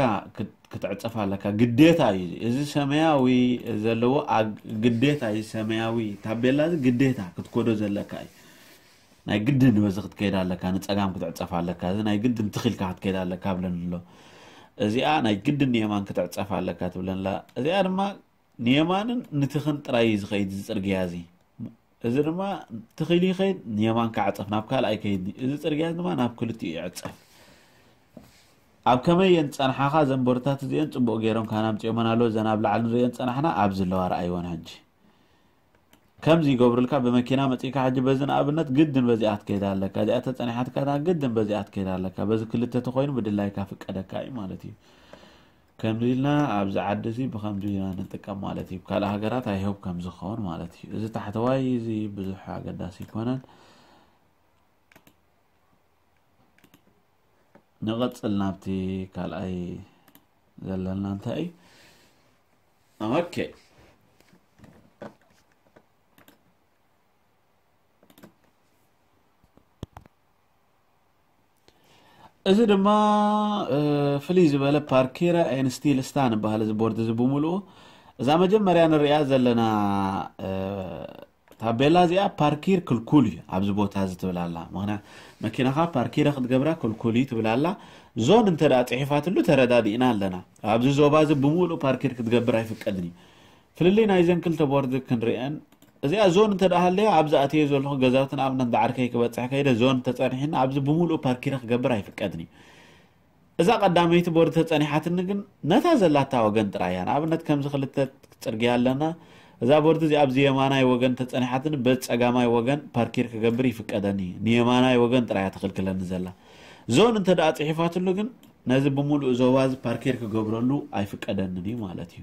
ክትዕጸፍ ኣለካ፣ ግዴታ እዩ። እዚ ሰማያዊ ዘለዎ ግዴታ እዩ። ሰማያዊ ታቤላ እዚ ግዴታ ክትኮዶ ዘለካ እዩ። ናይ ግድን በዚ ክትከይድ ኣለካ፣ ንጸጋም ክትዕጸፍ ኣለካ። እዚ ናይ ግድን ትኺልካ ክትከይድ ኣለካ ብለን ኣሎ። እዚኣ ናይ ግድን ንየማን ክትዕጸፍ ኣለካ ትብለንላ። እዚኣ ድማ ንየማንን ንትኽን ጥራይ እዩ ዝኸይድ እዚ ጽርግያ እዚ። እዚ ድማ ትኺል ይኸይድ፣ ንየማን ክዓጸፍ ናብ ካልኣይ ከይድ። እዚ ጽርግያ ድማ ናብ ክልቲኡ ይዕጸፍ። ኣብ ከመይ እየን ዝጸንሓኻ? እዘን ቦርድታት እዚአን ጽቡቕ ገይሮም ካና ኣምጺኦመን ኣለዉ። እዘን ኣብ ላዕሊ ንርእየን ዝጸናሕና ኣብዚ ኣለዋ፣ ረኣይወን ሕጂ። ከምዚ ይገብሩልካ፣ ብመኪና መጺእካ ሕጂ በዚ ንኣብነት ግድን በዚኣ ትከይድ ኣለካ። እዚኣ ተጸኒሓትካ ግድን በዚኣ ትከይድ ኣለካ። በዚ ክልተ ተኾይኑ ብድላይካ ፍቀደካ እዩ ማለት እዩ። ከምዚ ኢልና ኣብዚ ዓዲ እዚ ብኸምዚ ኢና ንጥቀም ማለት እዩ። ካልእ ሃገራት ኣይሆብ ከም ዝኸውን ማለት እዩ። እዚ ታሕተዋይ እዚ ብዙሕ ኣገዳሲ ኣይኮነን። ንቐጽል ናብቲ ካልኣይ ዘለና እንታይ እዩ? ኦኬ። እዚ ድማ ፍልይ ዝበለ ፓርኪረ ኤን ስቲል ስታ ንበሃል እዚ ቦርድ እዚ ብምልኡ። እዛ መጀመርያ ንሪኣ ዘለና ታቤላ እዚኣ ፓርኪር ክልኩል እዩ ኣብዚ ቦታ እዚ ትብል ኣላ። ምክንያት መኪናኻ ፓርኪረ ክትገብራ ክልኩል እዩ ትብል ኣላ። ዞን እንተ ደኣ ጽሒፋትሉ ተረዳዲእና ኣለና። ኣብዚ ዞባ እዚ ብምሉእ ፓርኪር ክትገብር ኣይፍቀድን እዩ። ፍልልይ ናይዘን ክልተ ቦርድ ክንርእየን። እዚኣ ዞን እንተ ደኣ ሃለያ ኣብዚ ኣትየ ዘለኹ ገዛውቲ ንኣብነት ዳዕርከይ ክበጽሕ ከይደ ዞን ተጸኒሕና ኣብዚ ብምሉእ ፓርኪረ ክገብር ኣይፍቀድን እዩ። እዛ ቀዳመይቲ ቦርድ ተጸኒሓትኒ ግን ነታ ዘላታ ወገን ጥራይ እያ። ንኣብነት ከምዚ ክልተ ጽርግያ ኣለና። እዛ ቦርድ እዚኣ ኣብዚ የማናይ ወገን ተጸኒሓትኒ በዚ ጸጋማይ ወገን ፓርኪር ክገብር ይፍቀደኒ እዩ። ንየማናይ ወገን ጥራይ እያ ትኽልክለኒ ዘላ። ዞን እንተ ደኣ ጽሒፋትሉ ግን ነዚ ብምሉእ ዞባ እዚ ፓርኪር ክገብረሉ ኣይፍቀደንን እዩ ማለት እዩ።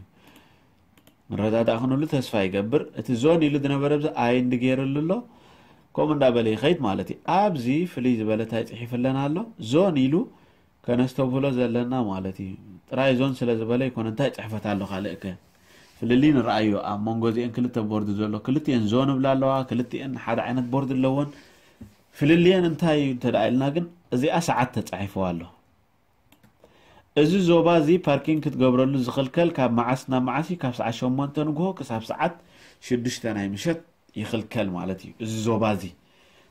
ንረዳዳእ ክንብሉ ተስፋ ይገብር። እቲ ዞን ኢሉ ዝነበረ ብዚ ኣይ እንዲ ገይርሉ ኣሎ። ከምኡ እንዳበለ ይኸይድ ማለት እዩ። ኣብዚ ፍልይ ዝበለ እንታይ ጽሒፍለን ኣሎ? ዞን ኢሉ ከነስተብህሎ ዘለና ማለት እዩ። ጥራይ ዞን ስለ ዝበለ ይኮነ እንታይ ጽሕፈት ኣሎ ካልእ ከ? ፍልልይ ንረኣዮ ኣብ መንጎ እዚአን ክልተ ቦርድ ዘሎ። ክልቲአን ዞን እብላ ኣለዋ፣ ክልቲአን ሓደ ዓይነት ቦርድ ኣለወን። ፍልልየን እንታይ እዩ እንተ ደኣ ኢልና ግን እዚኣ ሰዓት ተጻሒፍዋ ኣሎ። እዚ ዞባ እዚ ፓርኪንግ ክትገብረሉ ዝኽልከል ካብ መዓስ ናብ መዓስ እዩ? ካብ ሰዓት ሸሞንተ ንግሆ ክሳብ ሰዓት ሽዱሽተ ናይ ምሸት ይኽልከል ማለት እዩ። እዚ ዞባ እዚ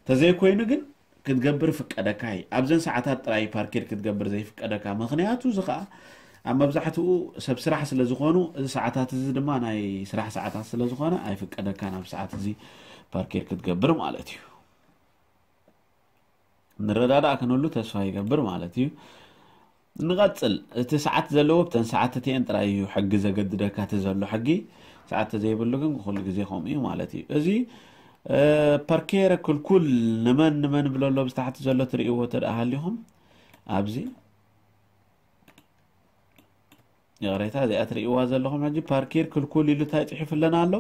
ተዘይኮይኑ ግን ክትገብር ይፍቀደካ እዩ። ኣብዘን ሰዓታት ጥራይ ፓርኪር ክትገብር ዘይፍቀደካ። ምኽንያቱ እዚ ኸኣ ኣብ መብዛሕትኡ ሰብ ስራሕ ስለ ዝኾኑ፣ እዚ ሰዓታት እዚ ድማ ናይ ስራሕ ሰዓታት ስለ ዝኾነ ኣይፍቀደካን ኣብ ሰዓት እዚ ፓርኪር ክትገብር ማለት እዩ። ንረዳዳእ ክንብሉ ተስፋ ይገብር ማለት እዩ። ንቐጽል። እቲ ሰዓት ዘለዎ ብተን ሰዓት እቲአን ጥራይ እዩ ሕጊ ዘገድደካ፣ እቲ ዘሎ ሕጊ። ሰዓት ተዘይብሉ ግን ኩሉ ግዜ ከምኡ እዩ ማለት እዩ። እዚ፣ እ፣ ፓርኬረ ክልኩል ንመን ንመን ብሎ ኣሎ፣ ኣብዚ ታሕቲ ዘሎ ትርእይዎ እንተ ደኣ ሃሊኹም፣ ኣብዚ ይቕሬታ፣ እዚኣ ትርእይዋ ዘለኹም ሕጂ ፓርኪር ክልኩል ኢሉ እንታይ ጽሒፉ ኣለና ኣሎ?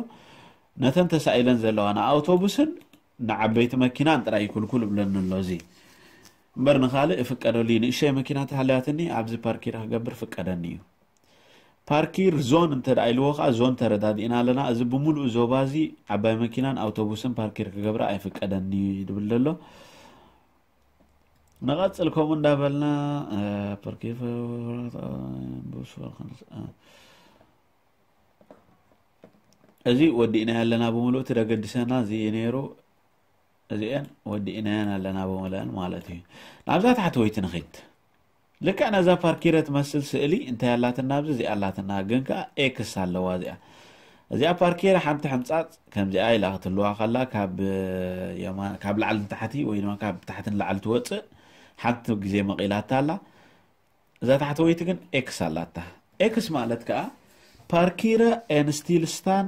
ነተን ተሳኢለን ዘለዋ ንኣውቶቡስን ንዓበይቲ መኪናን ጥራይ ክልኩል ይብለኒ ኣሎ። እዚ እምበር ንኻልእ እፍቀደሉ እዩ። ንእሽተይ መኪና ተሃልያትኒ ኣብዚ ፓርኪር ክገብር ፍቀደኒ እዩ። ፓርኪር ዞን እንተ ደኣ ኢልዎ ኸኣ ዞን ተረዳዲእና ኣለና። እዚ ብምሉእ ዞባ እዚ ዓባይ መኪናን ኣውቶቡስን ፓርኪር ክገብራ ኣይፍቀደኒ እዩ ዝብል ዘሎ። ንቐጽል ከምኡ እንዳበልና፣ እ፣ ፐርኬፈ-፣ እዚ ወዲእናዮ ኣለና ብምሉእ እቲ ደገድሰና እዚ እዩ ነይሩ። እዚአን ወዲእናየን ኣለና ብምሉእን ማለት እዩ። ናብዛ ታሕተወይቲ ንኺድ። ልክዕ ነዛ ፓርኪረ ትመስል ስእሊ እንታይ ኣላትና ኣብዚ እዚኣ ኣላትና፣ ግን ከኣ ኤክስ ኣለዋ እዚኣ። እዚኣ ፓርኪረ ሓንቲ ሕንጻጽ ከምዚኣ ኢላ ክትህልዋ ከላ ካብ የማ-፣ ካብ ላዕሊ ንታሕቲ ወይ ድማ ካብ ታሕቲ ንላዕሊ ትወጽእ ሓንቲ ግዜ መቒላታ ኣላ። እዛ ታሕተወይቲ ግን ኤክስ ኣላታ። ኤክስ ማለት ከዓ ፓርኪረ ኤንስቲልስታን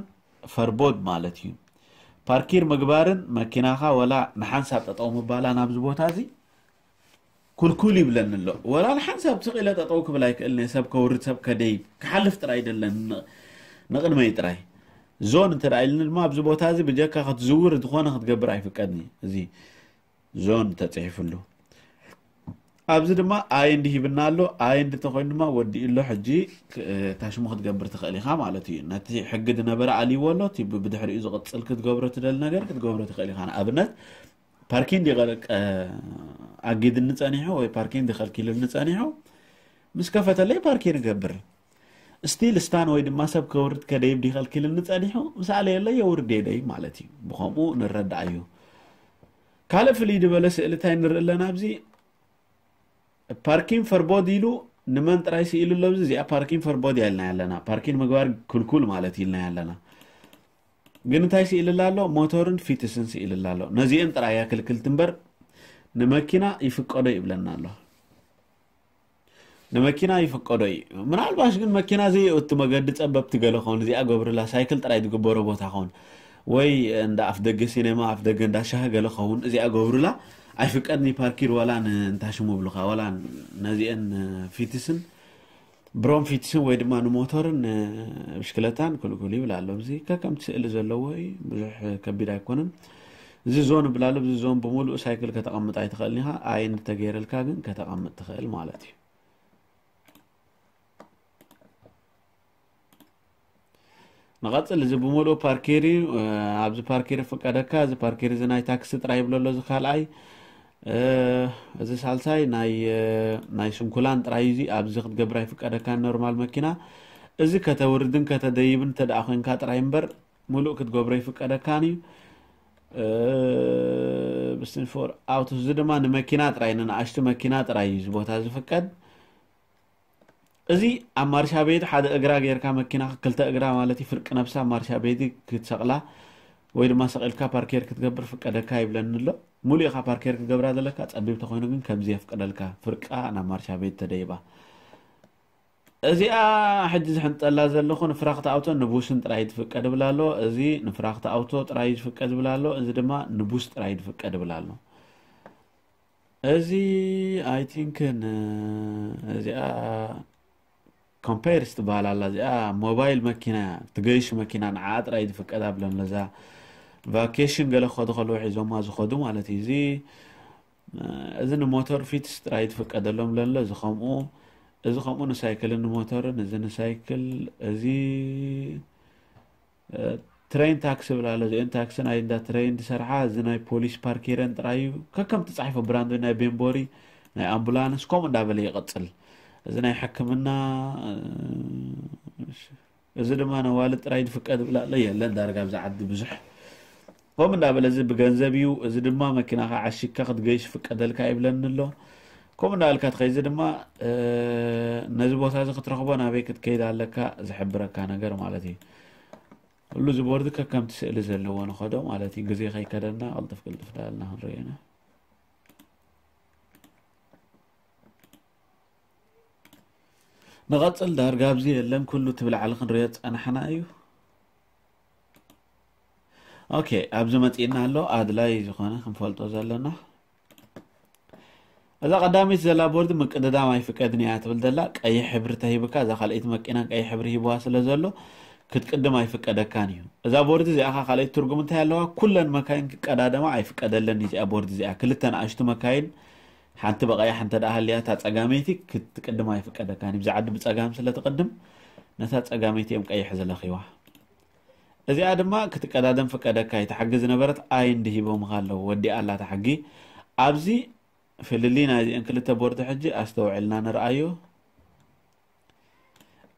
ፈርቦድ ማለት እዩ። ፓርኪር ምግባርን መኪናኻ ወላ ንሓንሳብ ጠጠው ምባላ ናብዚ ቦታ እዚ ኩልኩል ይብለኒ ኣሎ። ወላ ንሓንሳብ ስቕ ኢለ ጠጠው ክብል ኣይክእልን እየ። ሰብ ከውርድ ሰብ ከደይብ ክሓልፍ ጥራይ ደለን ንቕድመይ ጥራይ። ዞን እንተ ኢልኒ ድማ ኣብዚ ቦታ እዚ ብጀካ ክትዝውር ዝኾነ ክትገብር ኣይፍቀድኒ። እዚ ዞን ተፅሒፍሉ ኣብዚ ድማ ኣይ እንዲ ሂብና ኣሎ። ኣይ እንዲ ተኮይኑ ድማ ወዲኡ ኣሎ። ሕጂ ታሽሙ ክትገብር ትኽእል ኢኻ ማለት እዩ። ነቲ ሕጊ ዝነበረ ኣልይዎ ኣሎ። እቲ ብድሕሪኡ ዝቕፅል ክትገብሮ ትደሊ ነገር ክትገብሮ ትኽእል ኢኻ። ንኣብነት ፓርኪን ዲቐልቀ ኣጊድኒ ጸኒሑ ወይ ፓርኪን ዲኸልኪልኒ ጸኒሑ ምስ ከፈተለይ ፓርኪን እገብር። ስቲል ስታን ወይ ድማ ሰብ ከውርድ ከደይብ ዲኸልኪልኒ ጸኒሑ ምስ ኣለየለይ የውርድ የደይ ማለት እዩ። ብኸምኡ ንረዳእ እዩ። ካልእ ፍልይ ዝበለ ስእሊ እንታይ ንርኢ ኣለና ኣብዚ? ፓርኪን ፈርቦድ ኢሉ ንመን ጥራይ ስኢሉ ኣሎ? ኣብዚ እዚኣ ፓርኪን ፈርቦድ እያ ኢልና ኣለና። ፓርኪን ምግባር ክልኩል ማለት ኢልና ኣለና። ግን እንታይ ስኢልላ ኣሎ? ሞተርን ፊትስን ስኢልላ ኣሎ። ነዚአን ጥራይ እያ ክልክልቲ እምበር ንመኪና ይፍቀዶ ይብለና ኣሎ። ንመኪና ይፍቀዶ እዩ። ምናልባሽ ግን መኪና ዘይእቱ መገዲ ጸበብቲ ገለ ኸውን እዚኣ ገብርላ ሳይክል ጥራይ ዝግበሮ ቦታ ኸውን ወይ እንዳ ኣፍ ደገ ሲኔማ ኣፍ ደገ እንዳ ሻሂ ገለ ኸውን እዚኣ ገብሩላ ኣይፍቀድኒ ፓርኪር ዋላ ንእንታሽሙ ብሉኻ ዋላ ነዚአን ፊትስን ብሮም ፊትስን ወይ ድማ ንሞተርን ብሽክለታን ክልኩል ይብል ኣሎ። እዚ ከከምቲ ስእሊ ዘለዎ እዩ። ብዙሕ ከቢድ ኣይኮነን። እዚ ዞን ይብል ኣሎ። እዚ ዞን ብምሉእ ሳይክል ከተቐምጥ ኣይትኽእልን ኢኻ። ኣይ እንተገይረልካ ግን ከተቐምጥ ትኽእል ማለት እዩ። ንቐጽል። እዚ ብምሉእ ፓርኬር እዩ። ኣብዚ ፓርኬር ፍቀደካ። እዚ ፓርኬር እዚ ናይ ታክሲ ጥራይ ይብሎ ኣሎ። እዚ ካልኣይ እዚ ሳልሳይ ናይ ናይ ስንኩላን ጥራይ እዩ። እዚ ኣብዚ ክትገብር ኣይፍቀደካን ኖርማል መኪና። እዚ ከተውርድን ከተደይብን እንተ ደኣ ኮንካ ጥራይ እምበር ሙሉእ ክትገብሮ ይፍቀደካን እዩ። ብስን ፎር ኣውቶስ እዚ ድማ ንመኪና ጥራይ ንንኣሽቱ መኪና ጥራይ እዩ እዚ ቦታ ዝፍቀድ። እዚ ኣብ ማርሻ ቤት ሓደ እግራ ጌርካ መኪና ክልተ እግራ ማለት እዩ ፍርቂ ነብሳ ማርሻ ቤት ክትሰቕላ ወይ ድማ ሰቒልካ ፓርኬር ክትገብር ፍቀደካ ይብለኒ ኣሎ። ሙሉእ ኢኻ ፓርኬር ክትገብራ ዘለካ ጸቢብ ተኾይኑ ግን ከምዚ የፍቅደልካ ፍርቃ ናብ ማርሻ ቤት ተደይባ። እዚኣ ሕጂ ዝሕንጠላ ዘለኹ ንፍራኽቲ ኣውቶ ንቡስን ጥራይ ትፍቀድ ይብል ኣሎ። እዚ ንፍራኽቲ ኣውቶ ጥራይ ዝፍቀድ ይብል ኣሎ። እዚ ድማ ንቡስ ጥራይ ዝፍቀድ ይብል ኣሎ። እዚ ኣይ ቲንክ እዚኣ ኮምፓይርስ ትበሃል ኣላ። እዚኣ ሞባይል መኪና እያ፣ ትገይሽ መኪና ንዓኣ ጥራይ ዝፍቀድ ኣብለን ለዛ ቫኬሽን ገለ ክኸዱ ከለዉ ሒዞማ ዝኸዱ ማለት እዩ። እዚ እዚ ንሞተር ፊትስ ጥራይ ትፍቀደሎም ለሎ እዚ ከምኡ እዚ ከምኡ ንሳይክልን ንሞተርን እዚ ንሳይክል እዚ ትሬን ታክሲ ብላ ኣሎ። እዚአን ታክሲ ናይ እንዳ ትሬን ዝሰርሓ እዚ ናይ ፖሊስ ፓርኬረን ጥራይ እዩ። ከከም ትጻሒፎ ብራንድ ናይ ቤንቦሪ ናይ ኣምቡላንስ ከምኡ እንዳበለ ይቐጽል። እዚ ናይ ሕክምና እዚ ድማ ነዋልድ ጥራይ ዝፍቀድ ብላ ኣሎ የለን ዳርጋ ኣብዚ ዓዲ ብዙሕ ከምኡ እንዳበለ እዚ ብገንዘብ እዩ። እዚ ድማ መኪናኻ ዓሺግካ ክትገይሽ ፍቀደልካ ይብለኒ ኣሎ። ከምኡ እንዳበልካ ትኸይ እዚ ድማ ነዚ ቦታ እዚ ክትረኽቦ ናበይ ክትከይድ ኣለካ ዝሕብረካ ነገር ማለት እዩ። ኩሉ እዚ ቦርድ ከከምቲ ስእሊ ዘለዎ ንኸዶ ማለት እዩ። ግዜ ከይከደና ቅልጥፍ ቅልጥፍ ዳልና ክንሪኦ ኢና። ንቐጽል ዳርጋ ኣብዚ የለን ኩሉ እቲ ብላዕሊ ክንሪኦ ዝጸናሕና እዩ። ኦኬ ኣብዚ መጺእና ኣሎ ኣድላይ ዝኾነ ክንፈልጦ ዘለና እዛ ቀዳመይቲ ዘላ ቦርድ ምቅድዳም ኣይፍቀድን እያ ትብል ዘላ ቀይሕ ሕብሪ ተሂብካ እዛ ካልኣይቲ መኪናን ቀይሕ ሕብሪ ሂብዋ ስለ ዘሎ ክትቅድም ኣይፍቀደካን እዩ። እዛ ቦርድ እዚኣ ኸ ካልኣይቲ ትርጉም እንታይ ኣለዋ? ኩለን መካይን ክቀዳደማ ኣይፍቀደለን እዩ እዚኣ ቦርድ እዚኣ። ክልተ ንኣሽቱ መካይን ሓንቲ ብቐያሕ እንተ ደኣ ሃልያ እታ ጸጋመይቲ ክትቅድም ኣይፍቀደካን እዩ። ብዛ ዓዲ ብጸጋም ስለ ትቅድም ነታ ጸጋመይቲ እዮም ቀይሕ ዝለኺዋ። እዚኣ ድማ ክትቀዳደም ፍቀደካ እዩ። እታ ሕጊ ዝነበረት ኣይ እንዲ ሂቦምኻ ኣለዉ። ወዲኣ ኣላ እታ ሕጊ። ኣብዚ ፍልልይ ናይዚአን ክልተ ቦርድ ሕጂ ኣስተውዒልና ንርኣዮ።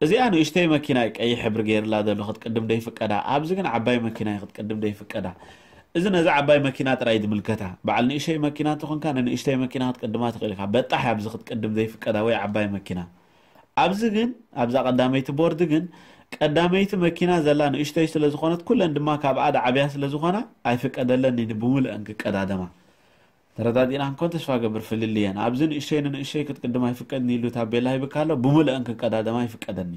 እዚኣ ንእሽተይ መኪና እዩ ቀይሕ ሕብሪ ገይርላ ዘሎ ክትቅድም ደይፍቀዳ። ኣብዚ ግን ዓባይ መኪና እዩ ክትቅድም ደይፍቀዳ። እዚ ነዛ ዓባይ መኪና ጥራይ እዩ ዝምልከታ። በዓል ንእሽተይ መኪና እንተኾንካ ንንእሽተይ መኪና ክትቅድማ ትኽእል ኢኻ። በጣሕ ኣብዚ ክትቅድም ዘይፍቀዳ ወይ ዓባይ መኪና። ኣብዚ ግን ኣብዛ ቀዳመይቲ ቦርድ ግን ቀዳመይቲ መኪና ዘላ ንእሽተይ ስለ ዝኾነት ኩለን ድማ ካብኣ ደዓብያ ስለ ዝኾና ኣይፍቀደለን እዩ ብሙሉአን ክቀዳደማ። እታ ተረዳዲእና ክንኮን ተስፋ ገብር። ፍልልየን ኣብዚ ንእሸይ ንንእሸይ ክትቅድም ኣይፍቀድን ኢሉ ታቤላ ሂብካ ኣሎ። ብምልአን ክቀዳደማ ይፍቀደኒ።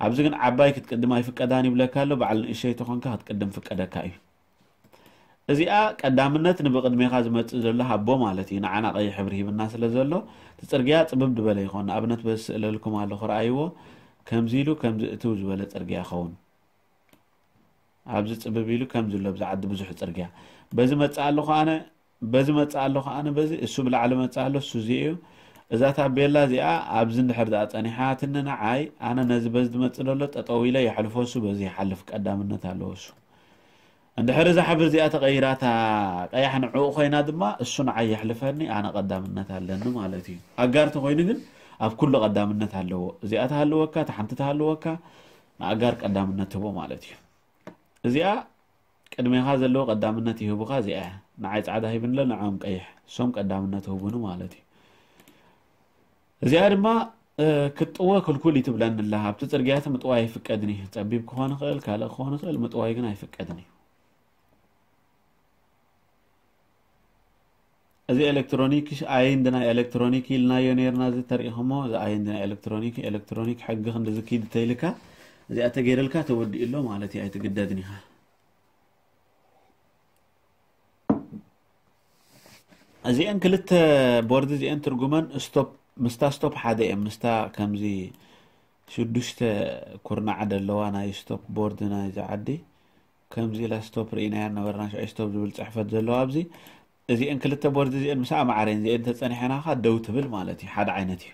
ኣብዚ ግን ዓባይ ክትቅድም ኣይፍቀዳን ይብለካ ኣሎ። በዓል ንእሸይ ተኾንካ ክትቅድም ፍቀደካ እዩ። እዚኣ ቀዳምነት ንብቕድሜኻ ዝመጽእ ዘሎ ሃቦ ማለት እዩ። ንዓና ቀይሕ ሕብሪ ሂብና ስለ ዘሎ እቲ ጽርግያ ጽብብ ዝበለ ይኾን። ንኣብነት በዚ ስእለልኩም ኣለኹ፣ ረኣይዎ። ከምዚ ኢሉ ከምዚ እትው ዝበለ ጽርግያ ይኸውን። ኣብዚ ጽብብ ኢሉ ከምዚ ኣሎ፣ ኣብዚ ዓዲ ብዙሕ ጽርግያ። በዚ መጽእ ኣለኹ ኣነ፣ በዚ መጽእ ኣለኹ ኣነ፣ በዚ እሱ ብላዕሊ መጽእ ኣሎ፣ እሱ እዚ እዩ። እዛ ታቤላ እዚኣ ኣብዚ እንድሕር ደኣ ጸኒሓትኒ ንዓይ፣ ኣነ ነዚ በዚ ዝመጽእ ዘሎ ጠጠው ኢለ የሕልፎ፣ እሱ በዚ ይሓልፍ፣ ቀዳምነት ኣለዎ እሱ። እንድሕር እዛ ሕብሪ እዚኣ ተቐይራታ ቀያሕ ንዕኡ ኮይና ድማ እሱ ንዓይ የሕልፈኒ፣ ኣነ ቀዳምነት ኣለኒ ማለት እዩ። ኣጋር ተኾይኑ ግን ኣብ ኩሉ ቀዳምነት ኣለዎ። እዚኣ ተሃልወካ፣ እታ ሓንቲ ተሃልወካ፣ ንኣጋር ቀዳምነት ትህቦ ማለት እዩ። እዚኣ ቅድሜኻ ዘለዎ ቀዳምነት ይህቡኻ፣ እዚኣ እያ። ንዓይ ጻዕዳ ሂብንለ፣ ንዕኦም ቀይሕ፣ እሶም ቀዳምነት ህቡኒ ማለት እዩ። እዚኣ ድማ እ፣ ክትጥወ ክልኩል እዩ ትብለኒ ኣላ። ኣብቲ ጽርግያቲ ምጥዋይ ኣይፍቀድን እዩ። ጸቢብ ክኾን ይኽእል፣ ካልእ ክኾን ይኽእል፣ ምጥዋይ ግን ኣይፍቀድን እዩ። እዚ ኤሌክትሮኒክ ኣይንድ ናይ ኤሌክትሮኒክ ኢልናዮ ነይርና፣ እዚ ተሪኢኹሞ፣ እዚ ኣይንድ ናይ ኤሌክትሮኒክ፣ ኤሌክትሮኒክ ሕጊ ክንዲ ዝኪድ ተይልካ፣ እዚኣ ተገይረልካ ተወዲኡ ኣሎ ማለት እዩ፣ ኣይትግደድን ኢኻ። እዚአን ክልተ ቦርድ እዚአን ትርጉመን ስቶፕ፣ ምስታ ስቶፕ ሓደ እየን፣ ምስታ ከምዚ ሽዱሽተ ኩርናዕ ደለዋ ናይ ስቶፕ ቦርድ ናይዚ ዓዲ፣ ከምዚ ኢላ ስቶፕ ርኢናያ ነበርና፣ ሽዑ ስቶፕ ዝብል ጽሕፈት ዘለዋ ኣብዚ። እዚአን ክልተ ቦርድ እዚአን ምስኣ ማዕረን እዚአን ተጸኒሐናኻ ደው ትብል ማለት እዩ፣ ሓደ ዓይነት እዩ።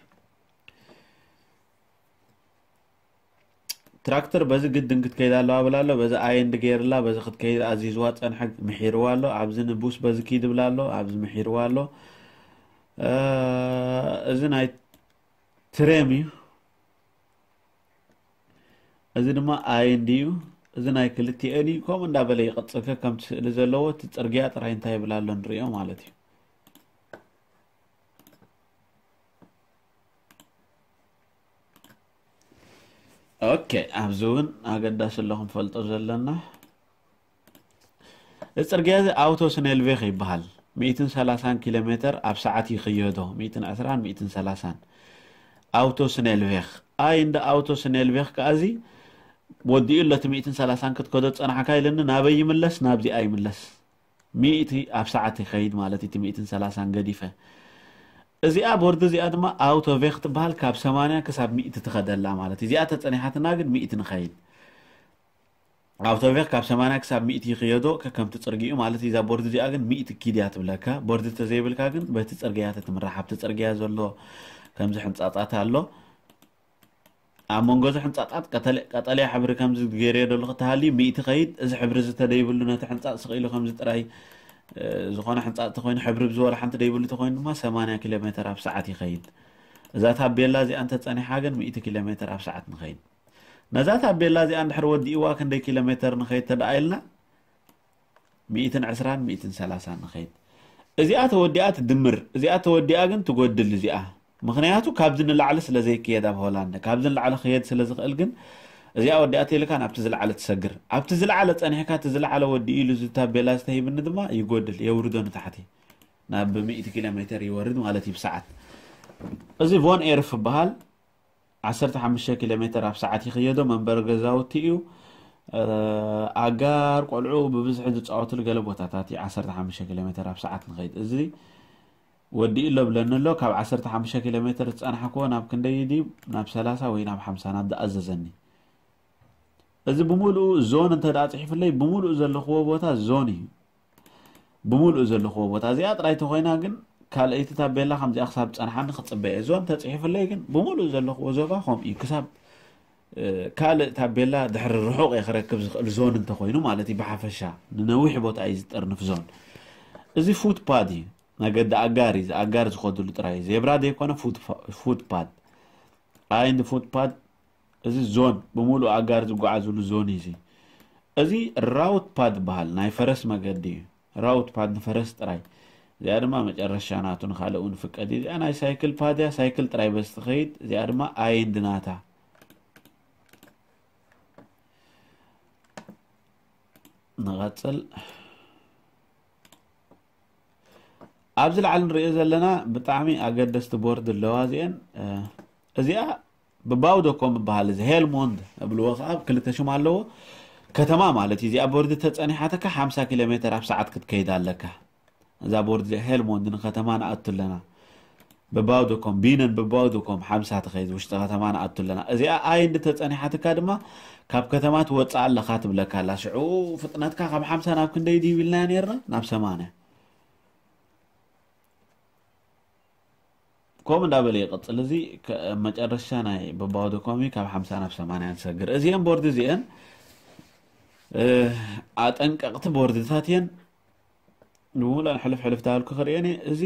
ትራክተር በዚ ግድን ክትከይድ ኣለዋ ብላ ኣሎ። በዚ ኣይንድ ገይርላ፣ በዚ ክትከይድ ኣዚዝዋ ጸንሐ፣ ምሒርዋ ኣሎ። ኣብዚ ንቡስ በዚ ኪድ ብላ ኣሎ፣ ኣብዚ ምሒርዋ ኣሎ። እ፣ እዚ ናይ ትሬም እዩ። እዚ ድማ ኣይንድ እዩ። እዚ ናይ ክልቲኤን እዩ። ከምኡ እንዳበለ ይቐጽል። ከከምቲ ስእሊ ዘለዎ እቲ ጽርግያ ጥራይ እንታይ ይብል ኣሎ ንርእዮ ማለት እዩ። ኦኬ፣ ኣብዚ እውን ኣገዳሲ ኣሎ ክንፈልጦ ዘለና። እዚ ጽርግያ እዚ ኣውቶ ስኔልቬኽ ይበሃል። ሚእትን ሰላሳን ኪሎ ሜተር ኣብ ሰዓት ይኽየዶ፣ ሚእትን ዕስራን ሚእትን ሰላሳን። ኣውቶ ስኔልቬኽ። ኣይ እንደ ኣውቶ ስኔልቬኽ ከኣ እዚ ወዲኡ ኣሎ፣ እቲ ሚእትን ሰላሳን ክትከዶ ዝጸናሕካ ኢለኒ፣ ናበይ ይምለስ? ናብዚኣ ይምለስ። ሚእቲ ኣብ ሰዓት ይኸይድ ማለት እዩ፣ እቲ ሚእትን ሰላሳን ገዲፈ። እዚኣ ቦርድ እዚኣ ድማ ኣውቶ ቬኽ ትበሃል፣ ካብ ሰማንያ ክሳብ ሚእቲ ትኸደላ ማለት እዩ። እዚኣ ተጸኒሓትና ግን ሚእቲ ንኸይድ። ኣውቶቬክ ካብ ሰማንያ ክሳብ ሚእቲ ይኽየዶ፣ ከከምቲ ጽርግይኡ ማለት እዩ። እዛ ቦርድ እዚኣ ግን ሚእቲ ኪድ እያ ትብለካ። ቦርድ ተዘይብልካ ግን በቲ ጽርግያ ተትምራሕ። ኣብቲ ጽርግያ ዘሎ ከምዚ ሕንጻጻት ኣሎ። ኣብ መንጎ እዚ ሕንጻጻት ቀተለ-፣ ቀጠልያ ሕብሪ ከምዚ ገይረዮ ዘለኹ ተሃልዩ ሚእቲ ኸይድ። እዚ ሕብሪ እዚ ተደይብሉ ነቲ ሕንጻጽ ስቕ ኢሉ ከምዚ ጥራይ፣ እ፣ ዝኾነ ሕንጻጽ ተኾይኑ ሕብሪ ብዝበሎ ሓንቲ ደይብሉ ተኾይኑ ድማ ሰማንያ ኪሎ ሜተር ኣብ ሰዓት ይኸይድ። እዛ ታቤላ እዚኣ እንተጸኒሓ ግን ሚእቲ ኪሎ ሜተር ኣብ ሰዓት ንኸይድ። ነዛ ታቤላ እዚኣ እንድሕር ወዲእዋ ክንደይ ኪሎ ሜተር ንኸይድ ተደኣ ኢልና፣ ሚእትን ዕስራን ሚእትን ሰላሳን ንኸይድ። እዚኣ ተወዲኣ ትድምር፣ እዚኣ ተወዲኣ ግን ትጎድል እዚኣ። ምኽንያቱ ካብዚ ንላዕሊ ስለ ዘይክየድ ኣብ ሆላንድ፣ ካብዚ ንላዕሊ ክየድ ስለ ዝኽእል ግን እዚኣ ወዲኣ ተይልካ ናብቲ ዝለዓለ ትሰግር። ኣብቲ ዝለዓለ ጸኒሕካ እቲ ዝለዓለ ወዲኡ ኢሉ እዚ ታቤላ ዝተሂብኒ ድማ ይጎድል፣ የውርዶ ንታሕቲ። ናብ ሚእቲ ኪሎ ሜተር ይወርድ ማለት እዩ ብሰዓት። እዚ ቮን ኤርፍ ይበሃል። ዓሰርተ ሓሙሽተ ኪሎ ሜተር ኣብ ሰዓት ይኽየዶ መንበሪ ገዛውቲ እዩ። እ፣ ኣጋር ቆልዑ ብብዝሒ ዝጻወትሉ ገለ ቦታታት እዩ። ዓሰርተ ሓሙሽተ ኪሎ ሜተር ኣብ ሰዓት ንኸይድ። እዚ ወዲኡ ኣሎ ብለኒ ኣሎ። ካብ ዓሰርተ ሓሙሽተ ኪሎ ሜተር ዝጸናሕክዎ ናብ ክንደይ ድዩ? ናብ ሰላሳ ወይ ናብ ሓምሳ ናብ ዝኣዘዘኒ። እዚ ብምሉኡ ዞን እንተ ደኣ ጽሒፍለይ፣ ብምሉኡ ዘለኽዎ ቦታ ዞን እዩ። ብምሉኡ ዘለኽዎ ቦታ እዚኣ ጥራይ ተኾይና ግን፣ ካልኣይቲ ታቤላ ከምዚኣ ክሳብ ጸንሓኒ ክጽበ እየ። ዞን ተጽሒፍለይ ግን፣ ብምሉኡ ዘለኽዎ ዞባ ከምኡ እዩ። ክሳብ፣ እ፣ ካልእ ታቤላ ድሕሪ ርሑቕ እየ ክረክብ ዝኽእል ዞን እንተኾይኑ ማለት እዩ። ብሓፈሻ ንነዊሕ ቦታ እዩ ዝጥርንፍ ዞን። እዚ ፉት ፓድ እዩ። መገዲ ኣጋር እዩ። እዚ ኣጋር ዝኸድሉ ጥራይ። ዜብራ ዘይኮነ ፉት ፓ-፣ ፉት ፓድ። ኣይ እንዲ ፉት ፓድ፣ እዚ ዞን ብምሉእ ኣጋር ዝጓዓዝሉ ዞን እዩ። እዚ፣ እዚ ራውት ፓድ ይበሃል፣ ናይ ፈረስ መገዲ እዩ። ራውት ፓድ ንፈረስ ጥራይ። እዚኣ ድማ መጨረሻ ናቱ፣ ንኻልእ እውን ፍቀድ እዩ። እዚኣ ናይ ሳይክል ፓድ እያ፣ ሳይክል ጥራይ በዚ ትኸይድ። እዚኣ ድማ ኣይ እንዲ ናታ። ንቐጽል። ኣብዚ ላዕሊ ንሪኦ ዘለና ብጣዕሚ ኣገደስቲ ቦርድ ኣለዋ እዚአን። እዚኣ ብባውደኮም ይበሃል፣ እዚ ሄልሞንድ እብልዎ ከዓ ክልተ ሽም ኣለዎ። ከተማ ማለት እዩ። እዚኣ ቦርድ ተፀኒሓትካ ሓምሳ ኪሎ ሜትር ኣብ ሰዓት ክትከይድ ኣለካ። እዛ ቦርድ እዚኣ ሄልሞንድ ንከተማ ንኣቱ ኣለና። ብባውደኮም ቢነን ብባውደኮም ሓምሳ ትኸይድ ውሽጢ ከተማ ንኣቱ ኣለና። እዚኣ ኣይ እንድተፀኒሓትካ ድማ ካብ ከተማ ትወፅእ ኣለኻ ትብለካ ኣላ። ሽዑ ፍጥነትካ ካብ ሓምሳ ናብ ክንደይ ድዩ ኢልናዮ ነርና? ናብ ሰማንያ። ከምኡ እንዳበለ ይቕፅል። እዚ ከ- መጨረሻ ናይ በባወደኮሚ ካብ ሓምሳ ናብ ሰማንያ ንሰግር። እዚአን ቦርድ እዚአን ኣጠንቀቕቲ ቦርድታት እየን። ንምሉእን ሕልፍ ሕልፍ ዳልኩ ክርእየን እየ። እዚ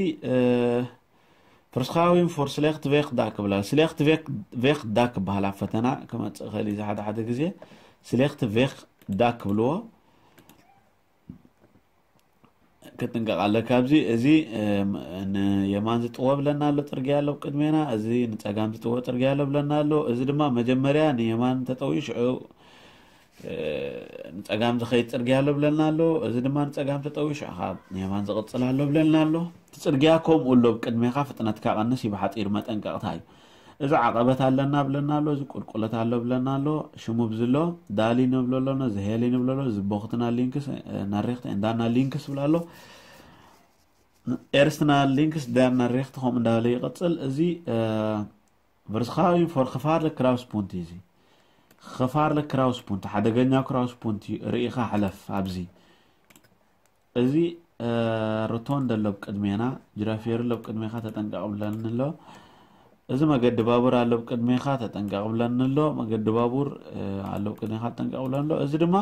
ፍርስኻዊን ፎር ስሌክት ቬክ ዳክ ብላ ስሌክት ቬክ ዳክ በሃላ ፈተና ክመፅእ ኽእል እዩ። ሓደ ሓደ ግዜ ስሌክት ቬክ ዳክ ብልዎ። ክጥንቀቕ ኣለካ። ኣብዚ እዚ ንየማን ዝጥወ ብለና ኣሎ፣ ፅርግያ ኣሎ ቅድሜና። እዚ ንፀጋም ዝጥወ ፅርግያ ኣሎ ብለና ኣሎ። እዚ ድማ መጀመርያ ንየማን ተጠውዩ ሽዑ ንፀጋም ዝኸይድ ፅርግያ ኣሎ ብለና ኣሎ። እዚ ድማ ንፀጋም ተጠውዩ ሽዑ ካብ ንየማን ዝቕፅል ኣሎ ብለና ኣሎ። እቲ ፅርግያ ከምኡ ኣሎ፣ ብቅድሜኻ ፍጥነትካ ቀንስ እዩ፣ ብሓፂሩ መጠንቀቕታ እዩ። እዚ ዓቐበት ኣለና ብለና ኣሎ፣ እዚ ቁልቁለት ኣሎ ብለና ኣሎ። ሽሙ ብዝሎ ዳሊ ንብሎ ኣለና፣ እዚ ሄሊ ንብሎ ኣሎ፣ እዚ ቦኽትና ሊንክስ ናሬክት እንዳና ሊንክስ ብላ ኣሎ። ኤርስትናል ሊንክስ ደር ናሬክት ከምኡ እንዳበለ ይቐፅል። እዚ ቨርስኻዊ ፎር ክፋርለ ክራውስ ፑንት እዩ። እዚ ክፋርለ ክራውስ ፑንት ሓደገኛ ክራውስ ፑንት እዩ። ርኢኻ ሕለፍ። ኣብዚ እዚ ሮቶንደ ኣሎ ብቅድሜና፣ ጅራፌር ኣሎ ብቅድሜኻ ተጠንቀቕ ብለኒ ኣሎ። እዚ መገዲ ባቡር ኣሎ ብቅድሜኻ ተጠንቀቕ ብለኒ ኣሎ። መገዲ ባቡር ኣሎ ብቅድሜኻ ተጠንቀቕ ብለኒ ኣሎ። እዚ ድማ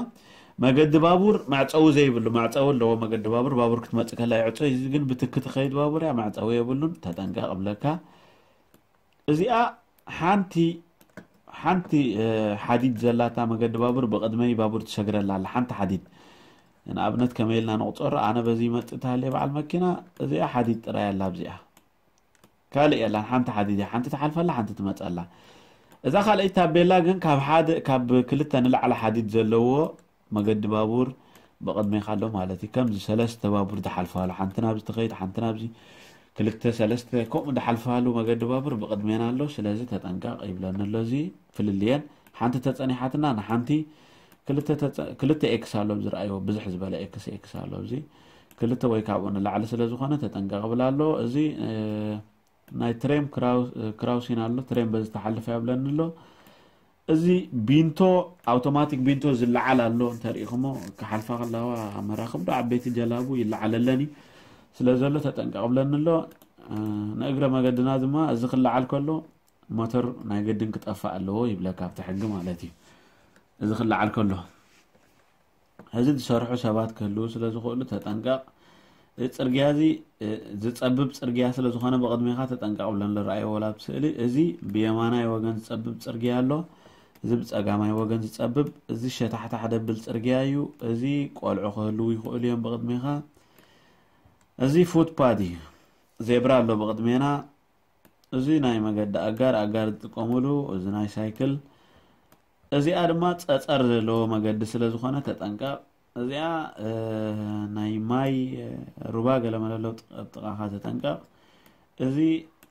መገዲ ባቡር መዕፀዊ ዘይብሉ፣ መዕፀዊ ኣለዎ መገዲ ባቡር፣ ባቡር ክትመፅእ ከላ ይዕፆ። እዚ ግን ብትኪ ትኸይድ ባቡር እያ፣ መዕፀዊ የብሉን፣ ተጠንቀቕ እብለካ። እዚኣ ሓንቲ ሓንቲ ሓዲድ ዘላታ መገዲ ባቡር ብቕድመይ ባቡር ትሰግረላ ኣላ። ሓንቲ ሓዲድ ንኣብነት ከመይ ኢልና ንቑፀሮ? ኣነ በዚ ይመፅእ ተሃልየ በዓል መኪና፣ እዚኣ ሓዲድ ጥራይ ኣላ። ኣብዚኣ ካልእ የላን። ሓንቲ ሓዲድ እያ፣ ሓንቲ ትሓልፈላ፣ ሓንቲ ትመፀላ። እዛ ካልኣይ ታቤላ ግን ካብ ሓደ ካብ ክልተ ንላዕሊ ሓዲድ ዘለዎ መገዲ ባቡር ብቕድሜኻ ኣሎ ማለት እዩ። ከምዚ ሰለስተ ባቡር ዝሓልፋሉ፣ ሓንቲ ናብዚ ትኸይድ፣ ሓንቲ ናብዚ፣ ክልተ ሰለስተ ከምኡ ዝሓልፋሉ መገዲ ባቡር ብቕድሜና ኣሎ። ስለዚ ተጠንቀቕ ይብለኒ ኣሎ። እዚ ፍልልየን ሓንቲ ተጸኒሓትና ንሓንቲ ክልተ ተጸ- ክልተ ኤክስ ኣሎ፣ ኣብዚ ረኣይዎ፣ ብዝሕ ዝበለ ኤክስ ኤክስ ኣሎ። እዚ ክልተ ወይ ካብኡ ንላዕሊ ስለ ዝኾነ ተጠንቀቕ ይብል ኣሎ። እዚ ናይ ትሬም ክራውሲን ኣሎ። ትሬም በዚ ተሓልፈ ያብለኒ ኣሎ። እዚ ቢንቶ፣ ኣውቶማቲክ ቢንቶ ዝለዓል ኣሎ። እንተሪኢኹሞ ክሓልፋ ከለዋ መራኽብ ዶ ዓበይቲ ጀላቡ ይለዓለለን እዩ ስለ ዘሎ ተጠንቀቕ ብለኒ ኣሎ። ንእግረ መገድና ድማ እዚ ክለዓል ከሎ ሞተር ናይ ገድን ክጠፋእ ኣለዎ ይብለካ ኣብቲ ሕጊ ማለት እዩ። እዚ ክለዓል ከሎ እዚ ዝሰርሑ ሰባት ክህልዉ ስለ ዝኽእሉ ተጠንቀቕ። እዚ ጽርግያ እዚ ዝጸብብ ጽርግያ ስለ ዝኾነ ብቕድሜኻ ተጠንቀቕ ብለን ዝረኣይዎ ወላ ኣብ ስእሊ። እዚ ብየማናይ ወገን ዝጸብብ ጽርግያ ኣሎ። እዚ ብጸጋማይ ወገን ዝጸብብ፣ እዚ ሸታሕታሕ ደብል ጽርግያ እዩ። እዚ ቆልዑ ክህልዉ ይኽእሉ እዮም ብቕድሜኻ። እዚ ፉትፓድ እዩ። ዜብራ ኣሎ ብቕድሜና። እዚ ናይ መገዲ ኣጋር ኣጋር ዝጥቀሙሉ፣ እዚ ናይ ሳይክል። እዚኣ ድማ ጸጸር ዘለዎ መገዲ ስለ ዝኾነ ተጠንቀቕ። እዚኣ ናይ ማይ ሩባ ገለመለ ኣሎ፣ ኣብ ጥቓኻ ተጠንቀቕ። እዚ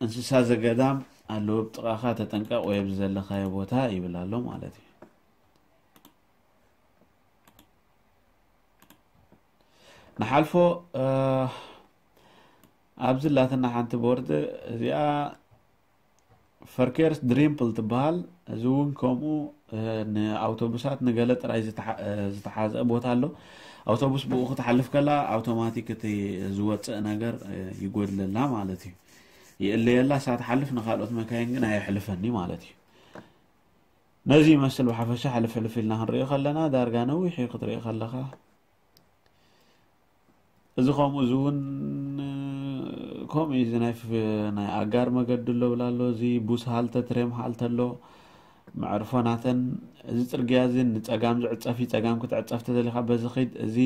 እንስሳ ዘገዳም ኣለዎ ኣብ ጥቓኻ ተጠንቀቕ፣ ወይ ኣብዚ ዘለኻዮ ቦታ ይብል ኣሎ ማለት እዩ። ንሓልፎ ኣብዚ ላትና ሓንቲ ቦርድ እዚኣ ፈርኬርስ ድሪምፕል ትበሃል። እዚ እውን ከምኡ ንኣውቶቡሳት ንገለ ጥራይ ዝተሓዘ ቦታ ኣሎ። ኣውቶቡስ ብኡ ክትሓልፍ ከላ ኣውቶማቲክ እቲ ዝወፅእ ነገር ይጎድለላ ማለት እዩ። ይእለየላ፣ እሳ ትሓልፍ፣ ንካልኦት መካይን ግን ኣየሕልፈኒ ማለት እዩ። ነዚ ይመስል ብሓፈሻ ሕልፍ ሕልፍ ኢልና ክንሪኦ ከለና ዳርጋ ነዊሕ እዩ ክትሪኦ ከለኻ። እዚ ከምኡ እዚ እውን ከምኡ እዩ። እዚ ናይ ናይ ኣጋር መገዲ ኣሎ ብላ ኣሎ። እዚ ቡስ ሃልተ ትሬም ሃልተ ኣሎ፣ መዕርፎ ናተን። እዚ ፅርግያ እዚ ንፀጋም ዝዕፀፍ እዩ። ፀጋም ክትዕፀፍ ተደሊኻ በዚ ኺድ። እዚ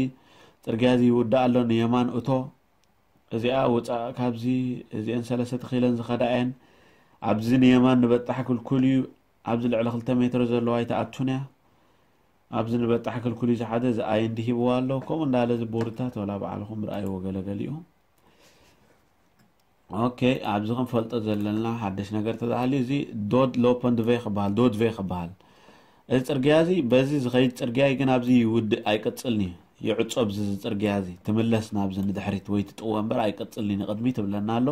ፅርግያ እዚ ይውዳእ ኣሎ፣ ንየማን እቶ። እዚኣ ውፃእ ካብዚ። እዚአን ሰለስተ ተኺለን ዝኸዳ እየን። ኣብዚ ንየማን ንበጣሕ ክልኩል እዩ። ኣብዚ ልዕሊ ክልተ ሜትሮ ዘለዋ ኣይትኣቱን እያ። ኣብዚ ንበጣሕ ክልኩል እዩ ዝሓደ፣ እዚ ኣይ እንዲ ሂብዋ ኣሎ። ከምኡ እንዳለ እዚ ቦርድታት ወላ ባዕልኹም ርኣይዎ ገለገሊኡ። ኦኬ፣ ኣብዚ ክንፈልጦ ዘለና ሓደሽ ነገር ተባሃሊ፣ እዚ ዶድ ሎፖንድ ቬ ክበሃል፣ ዶድ ቬ ክበሃል። እዚ ጽርግያ እዚ በዚ ዝኸይድ ጽርግያ እዩ፣ ግን ኣብዚ ይውድእ፣ ኣይቅጽልን እዩ። ይዕጾ ብዚ፣ እዚ ጽርግያ እዚ ትምለስ ናብዚ ንድሕሪት ወይ ትጥወ እምበር ኣይቅጽልን እዩ፣ ንቕድሚት ትብለና ኣሎ።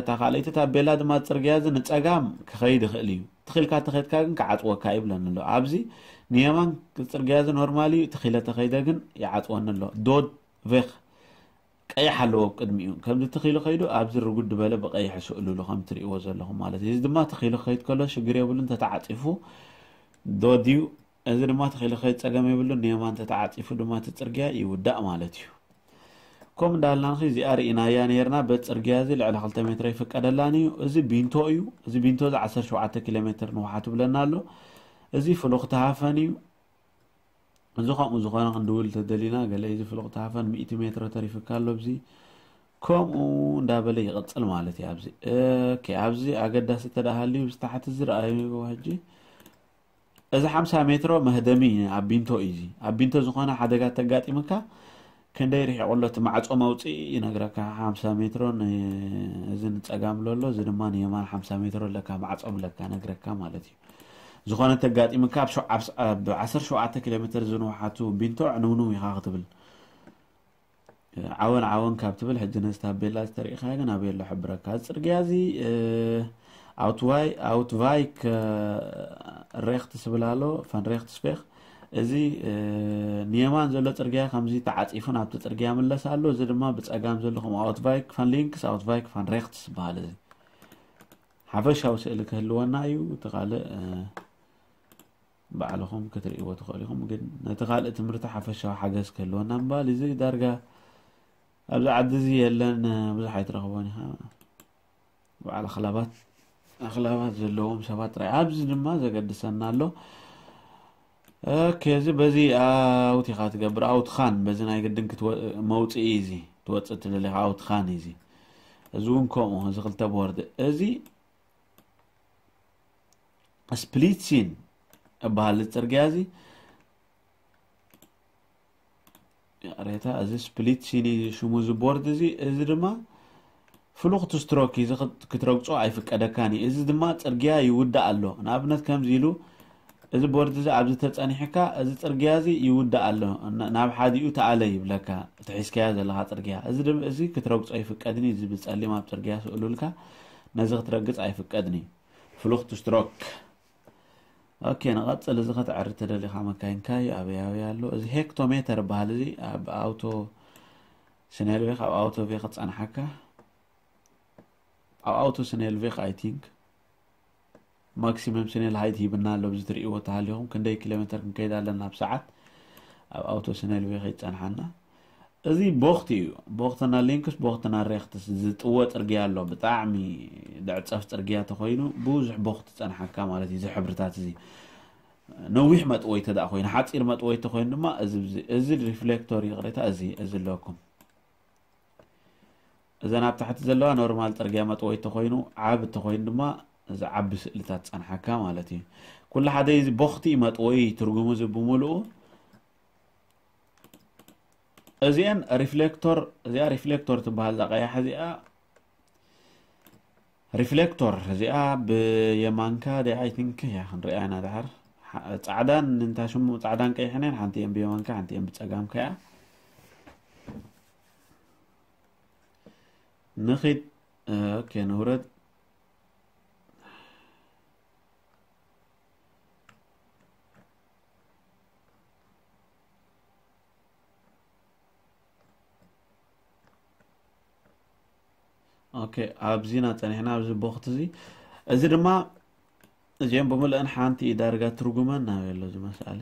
እታ ካልኣይቲ ታቤላ ድማ ጽርግያ እዚ ንጸጋም ክኸይድ ይኽእል እዩ። ትኺልካ ተኸይድካ ግን ክዓጽወካ እዩ ብለኒ ኣሎ። ኣብዚ ንየማን ጽርግያ እዚ ኖርማል እዩ፣ ትኺለ ተኸይደ ግን ይዓጽወኒ ኣሎ። ዶድ ቬክ ቀይሕ ኣለዎ ኣብ ቅድሚኡ። ከምዚ ትኺሉ ከይዱ ኣብዚ ርጉድ ዝበለ ብቐይሕ ስእሉሉ ከም ትርእይዎ ዘለኹም ማለት እዩ። እዚ ድማ ትኺሉ ክኸይድ ከሎ ሽግር የብሉን፣ ተተዓጺፉ ዶድ እዩ። እዚ ድማ ትኺሉ ክኸይድ ጸገም የብሉን፣ ንየማን ተተዓጺፉ ድማ እቲ ጽርግያ ይውዳእ ማለት እዩ። ከምኡ እንዳልናኺ እዚኣ ርኢናያ ነይርና። በቲ ጽርግያ እዚ ልዕሊ ክልተ ሜትሮ ይፍቀደላን እዩ። እዚ ቢንቶ እዩ። እዚ ቢንቶ እዚ ዓሰርተ ሸውዓተ ኪሎ ሜትር ንውሓቱ ብለና ኣሎ። እዚ ፍሉኽቲ ሃፈን እዩ። እዚ ከምኡ ዝኾነ ክንድውል ተደሊና፣ ገለ እዚ ፍሉኽቲ ሃፈን ሚእቲ ሜትሮ ተሪፍካ ኣሎ። ኣብዚ ከምኡ እንዳበለ ይቕጽል ማለት እዩ። ኣብዚ ኦኬ፣ ኣብዚ ኣገዳሲ ተደሃልዩ ብዝተሓቲ ዝረኣዩ ሕጂ እዚ ሓምሳ ሜትሮ መህደሚ ኣብ ቢንቶ እዩ። እዚ ኣብ ቢንቶ ዝኾነ ሓደጋ ተጋጢምካ ክንደይ ርሒቑ ኣሎ እቲ ማዕጾ መውፅኢ ይነግረካ። ሓምሳ ሜትሮ ን-፣ እዚ ንጸጋም ኣሎ፣ እዚ ድማ ንየማን ሓምሳ ሜትሮ ኣለካ፣ ማዕጾ ኣለካ ነግረካ ማለት እዩ። ዝኾነ ተጋጢምካ ኣብ ሸው-፣ ኣብ ስ-፣ ኣብ ዓሰርተ ሸውዓተ ኪሎ ሜትር ዝንውሓቱ ቢንቶ ዕንውንው ኢኻ ክትብል። ዓወን ዓወን ካብ ትብል ሕጂ ነዚ ታቤላ ዝተሪእኻ ግን ኣበይ ኣሎ ሕብረካ? እዚ ጽርግያ እዚ፣ እ፣ ኣውትዋይ-፣ ኣውትቫይክ፣ እ፣ ሬክትስ ዝብል ኣሎ፣ ፋን ሬክትስ ፌክ። እዚ፣ እ፣ ንየማን ዘሎ ጽርግያ ከምዚ ተዓጺፉ ናብቲ ጽርግያ ምለስ ኣሎ። እዚ ድማ ብጸጋም ዘሎ ከም ኣውትቫይክ ፋን ሊንክስ፣ ኣውትቫይክ ፋን ሬክትስ ዝበሃል እዚ። ሓፈሻዊ ስእሊ ክህልወና እዩ። እቲ ካልእ፣ እ፣ ባዕልኹም ክትርእይዎ ትኽእሉ ኢኹም። ግን ነቲ ካልእ ትምህርቲ ሓፈሻዊ ሓገዝ ክህልወና ምባል እዚ ዳርጋ ኣብዚ ዓዲ እዚ የለን፣ ብዙሕ ኣይትረኽቦን ኢኻ። በዓል ኣኽላባት፣ ኣኽላባት ዘለዎም ሰባት ጥራይ። ኣብዚ ድማ ዘገድሰና ኣሎ። ኦኬ፣ እዚ በዚ ኣውት ኢኻ ትገብር፣ ኣውት ኻን፣ በዚ ናይ ግድን ክትወ-፣ መውፅኢ እዚ ትወፅእ ትደሊ ኢኻ፣ ኣውት ኻን እዚ። እዚ እውን ከምኡ፣ እዚ ክልተ ቦርድ። እዚ ስፕሊት ሲን እበሃል፣ እዚ ጽርግያ እዚ። ይቕሬታ፣ እዚ ስፕሊት ሲን እዩ ሽሙ፣ እዚ ቦርድ እዚ። እዚ ድማ ፍሉኽቲ ስትሮክ እዩ፣ እዚ ክት-፣ ክትረግጾ ኣይፍቀደካን እዩ። እዚ ድማ ጽርግያ ይውዳእ ኣሎ። ንኣብነት ከምዚ ኢሉ፣ እዚ ቦርድ እዚ ኣብዚ ተጸኒሕካ፣ እዚ ጽርግያ እዚ ይውዳእ ኣሎ። ና-፣ ናብ ሓዲኡ ተኣለ ይብለካ፣ እቲ ሒዝካዮ ዘለኻ ጽርግያ። እዚ ድም-፣ እዚ ክትረግጾ ኣይፍቀድን እዩ። እዚ ብጸሊም ኣብ ጽርግያ ስእሉልካ፣ ነዚ ክትረግጽ ኣይፍቀድን እዩ። ፍሉኽቲ ስትሮክ። ኦኬ፣ ንቐጽል። እዚ ከተዕሪ ተደሊኻ መካይንካ እዩ፣ ኣበይ ኣበይ ኣሎ። እዚ ሄክቶሜተር በሃል፣ እዚ ኣብ ኣውቶ ስኔልቬክ፣ ኣብ ኣውቶ ቬክ ክጸንሓካ፣ ኣብ ኣውቶ ስኔልቬክ፣ ኣይ ቲንክ፣ ማክሲመም ስኔል ሃይት ሂብና ኣሎ። ኣብዚ ትርእይዎ ተሃሊኹም ክንደይ ኪሎ ሜትር ክንከይድ ኣለና ኣብ ሰዓት፣ ኣብ ኣውቶ ስኔልቬክ ይጸንሓና። እዚ ቦኽቲ እዩ። ቦኽትና ሊንክስ፣ ቦኽትና ሬክትስ ዝጥወ ጽርግያ ኣሎ። ብጣዕሚ ደዕጸፍ ጽርግያ ተኾይኑ ብዙሕ ቦኽቲ ጸንሓካ ማለት እዩ። እዚ ሕብርታት እዚ ነዊሕ መጥወይቲ ደኣ ኮይኑ፣ ሓጺር መጥወይቲ ኮይኑ ድማ እዚ፣ እዚ፣ እዚ ሪፍሌክቶር ይቕሬታ፣ እዚ፣ እዚ ኣለኩም። እዘን ኣብ ታሕቲ ዘለዋ ኖርማል ጽርግያ መጥወይቲ ኮይኑ፣ ዓቢ ተኾይኑ ድማ እዚ ዓቢ ስእልታት ጸንሓካ ማለት እዩ። ኩሉ ሓደ እዚ ቦኽቲ መጥወይ ትርጉሙ እዚ ብምሉኡ። እዚአን ሪፍሌክቶር፣ እዚኣ ሪፍሌክቶር ትበሃል፣ እዛ ቀያሕ እዚኣ ሪፍሌክቶር እዚኣ ብየማንካ ዲ-፣ ኣይ ቲንክ እያ ክንሪኣ ኢና ድሓር። ሓ-፣ ጻዕዳን እንታ ሽሙ ጻዕዳን ቀይሕን እየን፣ ሓንቲ እየን ብየማንካ፣ ሓንቲ እየን ብጸጋምካ እያ። ንኺድ፣ ኦኬ፣ ንውረድ። ኦኬ፣ ኣብዚና ጸኒሕና፣ ኣብዚ ቦኽቲ እዚ። እዚ ድማ፣ እዚኦም ብምልአን ሓንቲ እዩ ዳርጋ ትርጉመን ናብ ኣሎ እዚ መስኣሊ።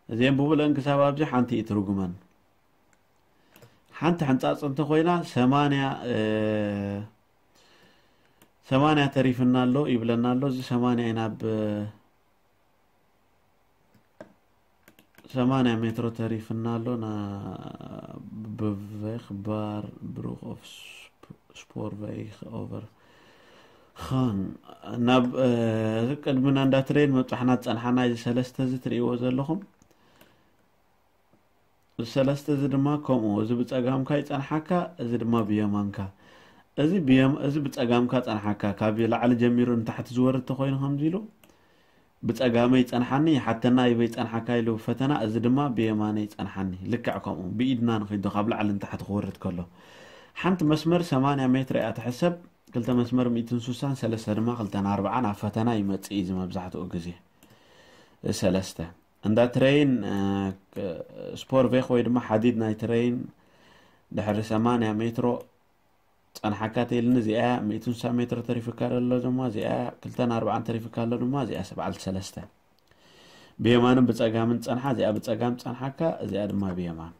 እዚኦም ብምልአን ክሳብ ኣብዚ ሓንቲ እዩ ትርጉመን። ሓንቲ ሕንጻጽ እንተኾይና፣ ሰማንያ፣ እ፣ ሰማንያ ተሪፍና ኣሎ ይብለና ኣሎ። እዚ ሰማንያ ኢና ብ-፣ ሰማንያ ሜትሮ ተሪፍና ኣሎ። ና-፣ ብቬክ ባር ብሩክ ኦፍ ስፕ-፣ ስፖር ቬክ ኦቨር ኻን ናብ፣ እ፣ ቅድሚና እንዳ ትሬን መብጻሕና ዝጸንሓና እዚ ሰለስተ እዚ ትርእይዎ ዘለኹም። ሰለስተ እዚ ድማ ከምኡ፣ እዚ ብጸጋምካ ይጸንሓካ፣ እዚ ድማ ብየማንካ። እዚ ብየም-፣ እዚ ብጸጋምካ ጸንሓካ፣ ካብ ላዕሊ ጀሚሩ ንታሕቲ ዝወርድ ተኾይኑ ከምዚ ኢሉ፣ ብጸጋመይ ይጸንሓኒ፣ ይሓተና ይበይ ጸንሓካ ኢሉ ፈተና፣ እዚ ድማ ብየማነይ ይጸንሓኒ። ልክዕ ከምኡ፣ ብኢድና ንኺዶ ካብ ላዕሊ ንታሕቲ ክወርድ ከሎ። ሓንቲ መስመር ሰማንያ ሜትር እያ ትሕሰብ፣ ክልተ መስመር ሚእትን ስሳን ሰለስተ ድማ ክልተን ኣርባዓን ኣብ ፈተና ይመጽእ እዩ፣ እዚ መብዛሕትኡ ግዜ። ሰለስተ። እንዳ ትሬን፣ እ፣ ክ-፣ ስፖር ቬክ ወይ ድማ ሓዲድ ናይ ትሬን ድሕሪ ሰማንያ ሜትሮ ጸንሓካ ተይልኒ፣ እዚኣ ሚእትን ስሳን ሜትሮ ተሪፍካ ዘሎ ድማ፣ እዚኣ ክልተን ኣርባዓን ተሪፍካ ኣሎ ድማ፣ እዚኣ ሰብዓን ሰለስተ። ብየማንን ብጸጋምን ጸንሓ፣ እዚኣ ብጸጋም ጸንሓካ፣ እዚኣ ድማ ብየማን።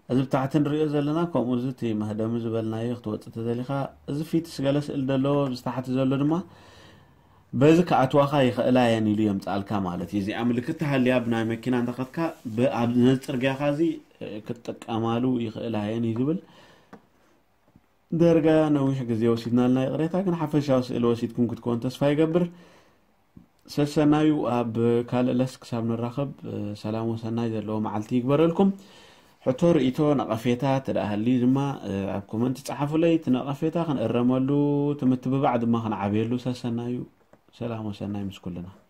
እዚ ብታሕቲ ንሪኦ ዘለና፣ ከምኡ እዚ እቲ መህደሚ ዝበልናዮ ክትወጽእ ተደሊኻ፣ እዚ ፊትስ ገለ ስእል ዘለዎ ኣብዚ ታሕቲ ዘሎ ድማ በዚ ክኣትዋኻ ይኽእላ እየን ኢሉ የምጽኣልካ ማለት እዩ። እዚኣ ምልክት ተሃልያ ብናይ መኪና እንተኸድካ፣ ብ-፣ ኣብ ነዚ ጽርግያኻ እዚ፣ እ፣ ክትጥቀማሉ ይኽእላ እየን እዩ ዝብል። ደርጋ ነዊሕ ግዜ ወሲድናልና ይቕሬታ፣ ግን ሓፈሻዊ ስእሊ ወሲድኩም ክትኮን ተስፋ ይገብር። ሰሰናዩ ኣብ ካልእ ለስ ክሳብ ንራኸብ፣ እ፣ ሰላም ወሰናይ ዘለዎ መዓልቲ ይግበረልኩም። ሕቶ፣ ርእይቶ፣ ነቐፌታ ተደኣ ሃልዩ ድማ፣ እ፣ ኣብ ኮመንት ጸሓፉለይ። እቲ ነቐፌታ ክንእረመሉ፣ እቲ ምትብባዕ ድማ ክንዓብየሉ። ሰሰናዩ፣ ሰላም ወሰናይ ምስ ኩልና።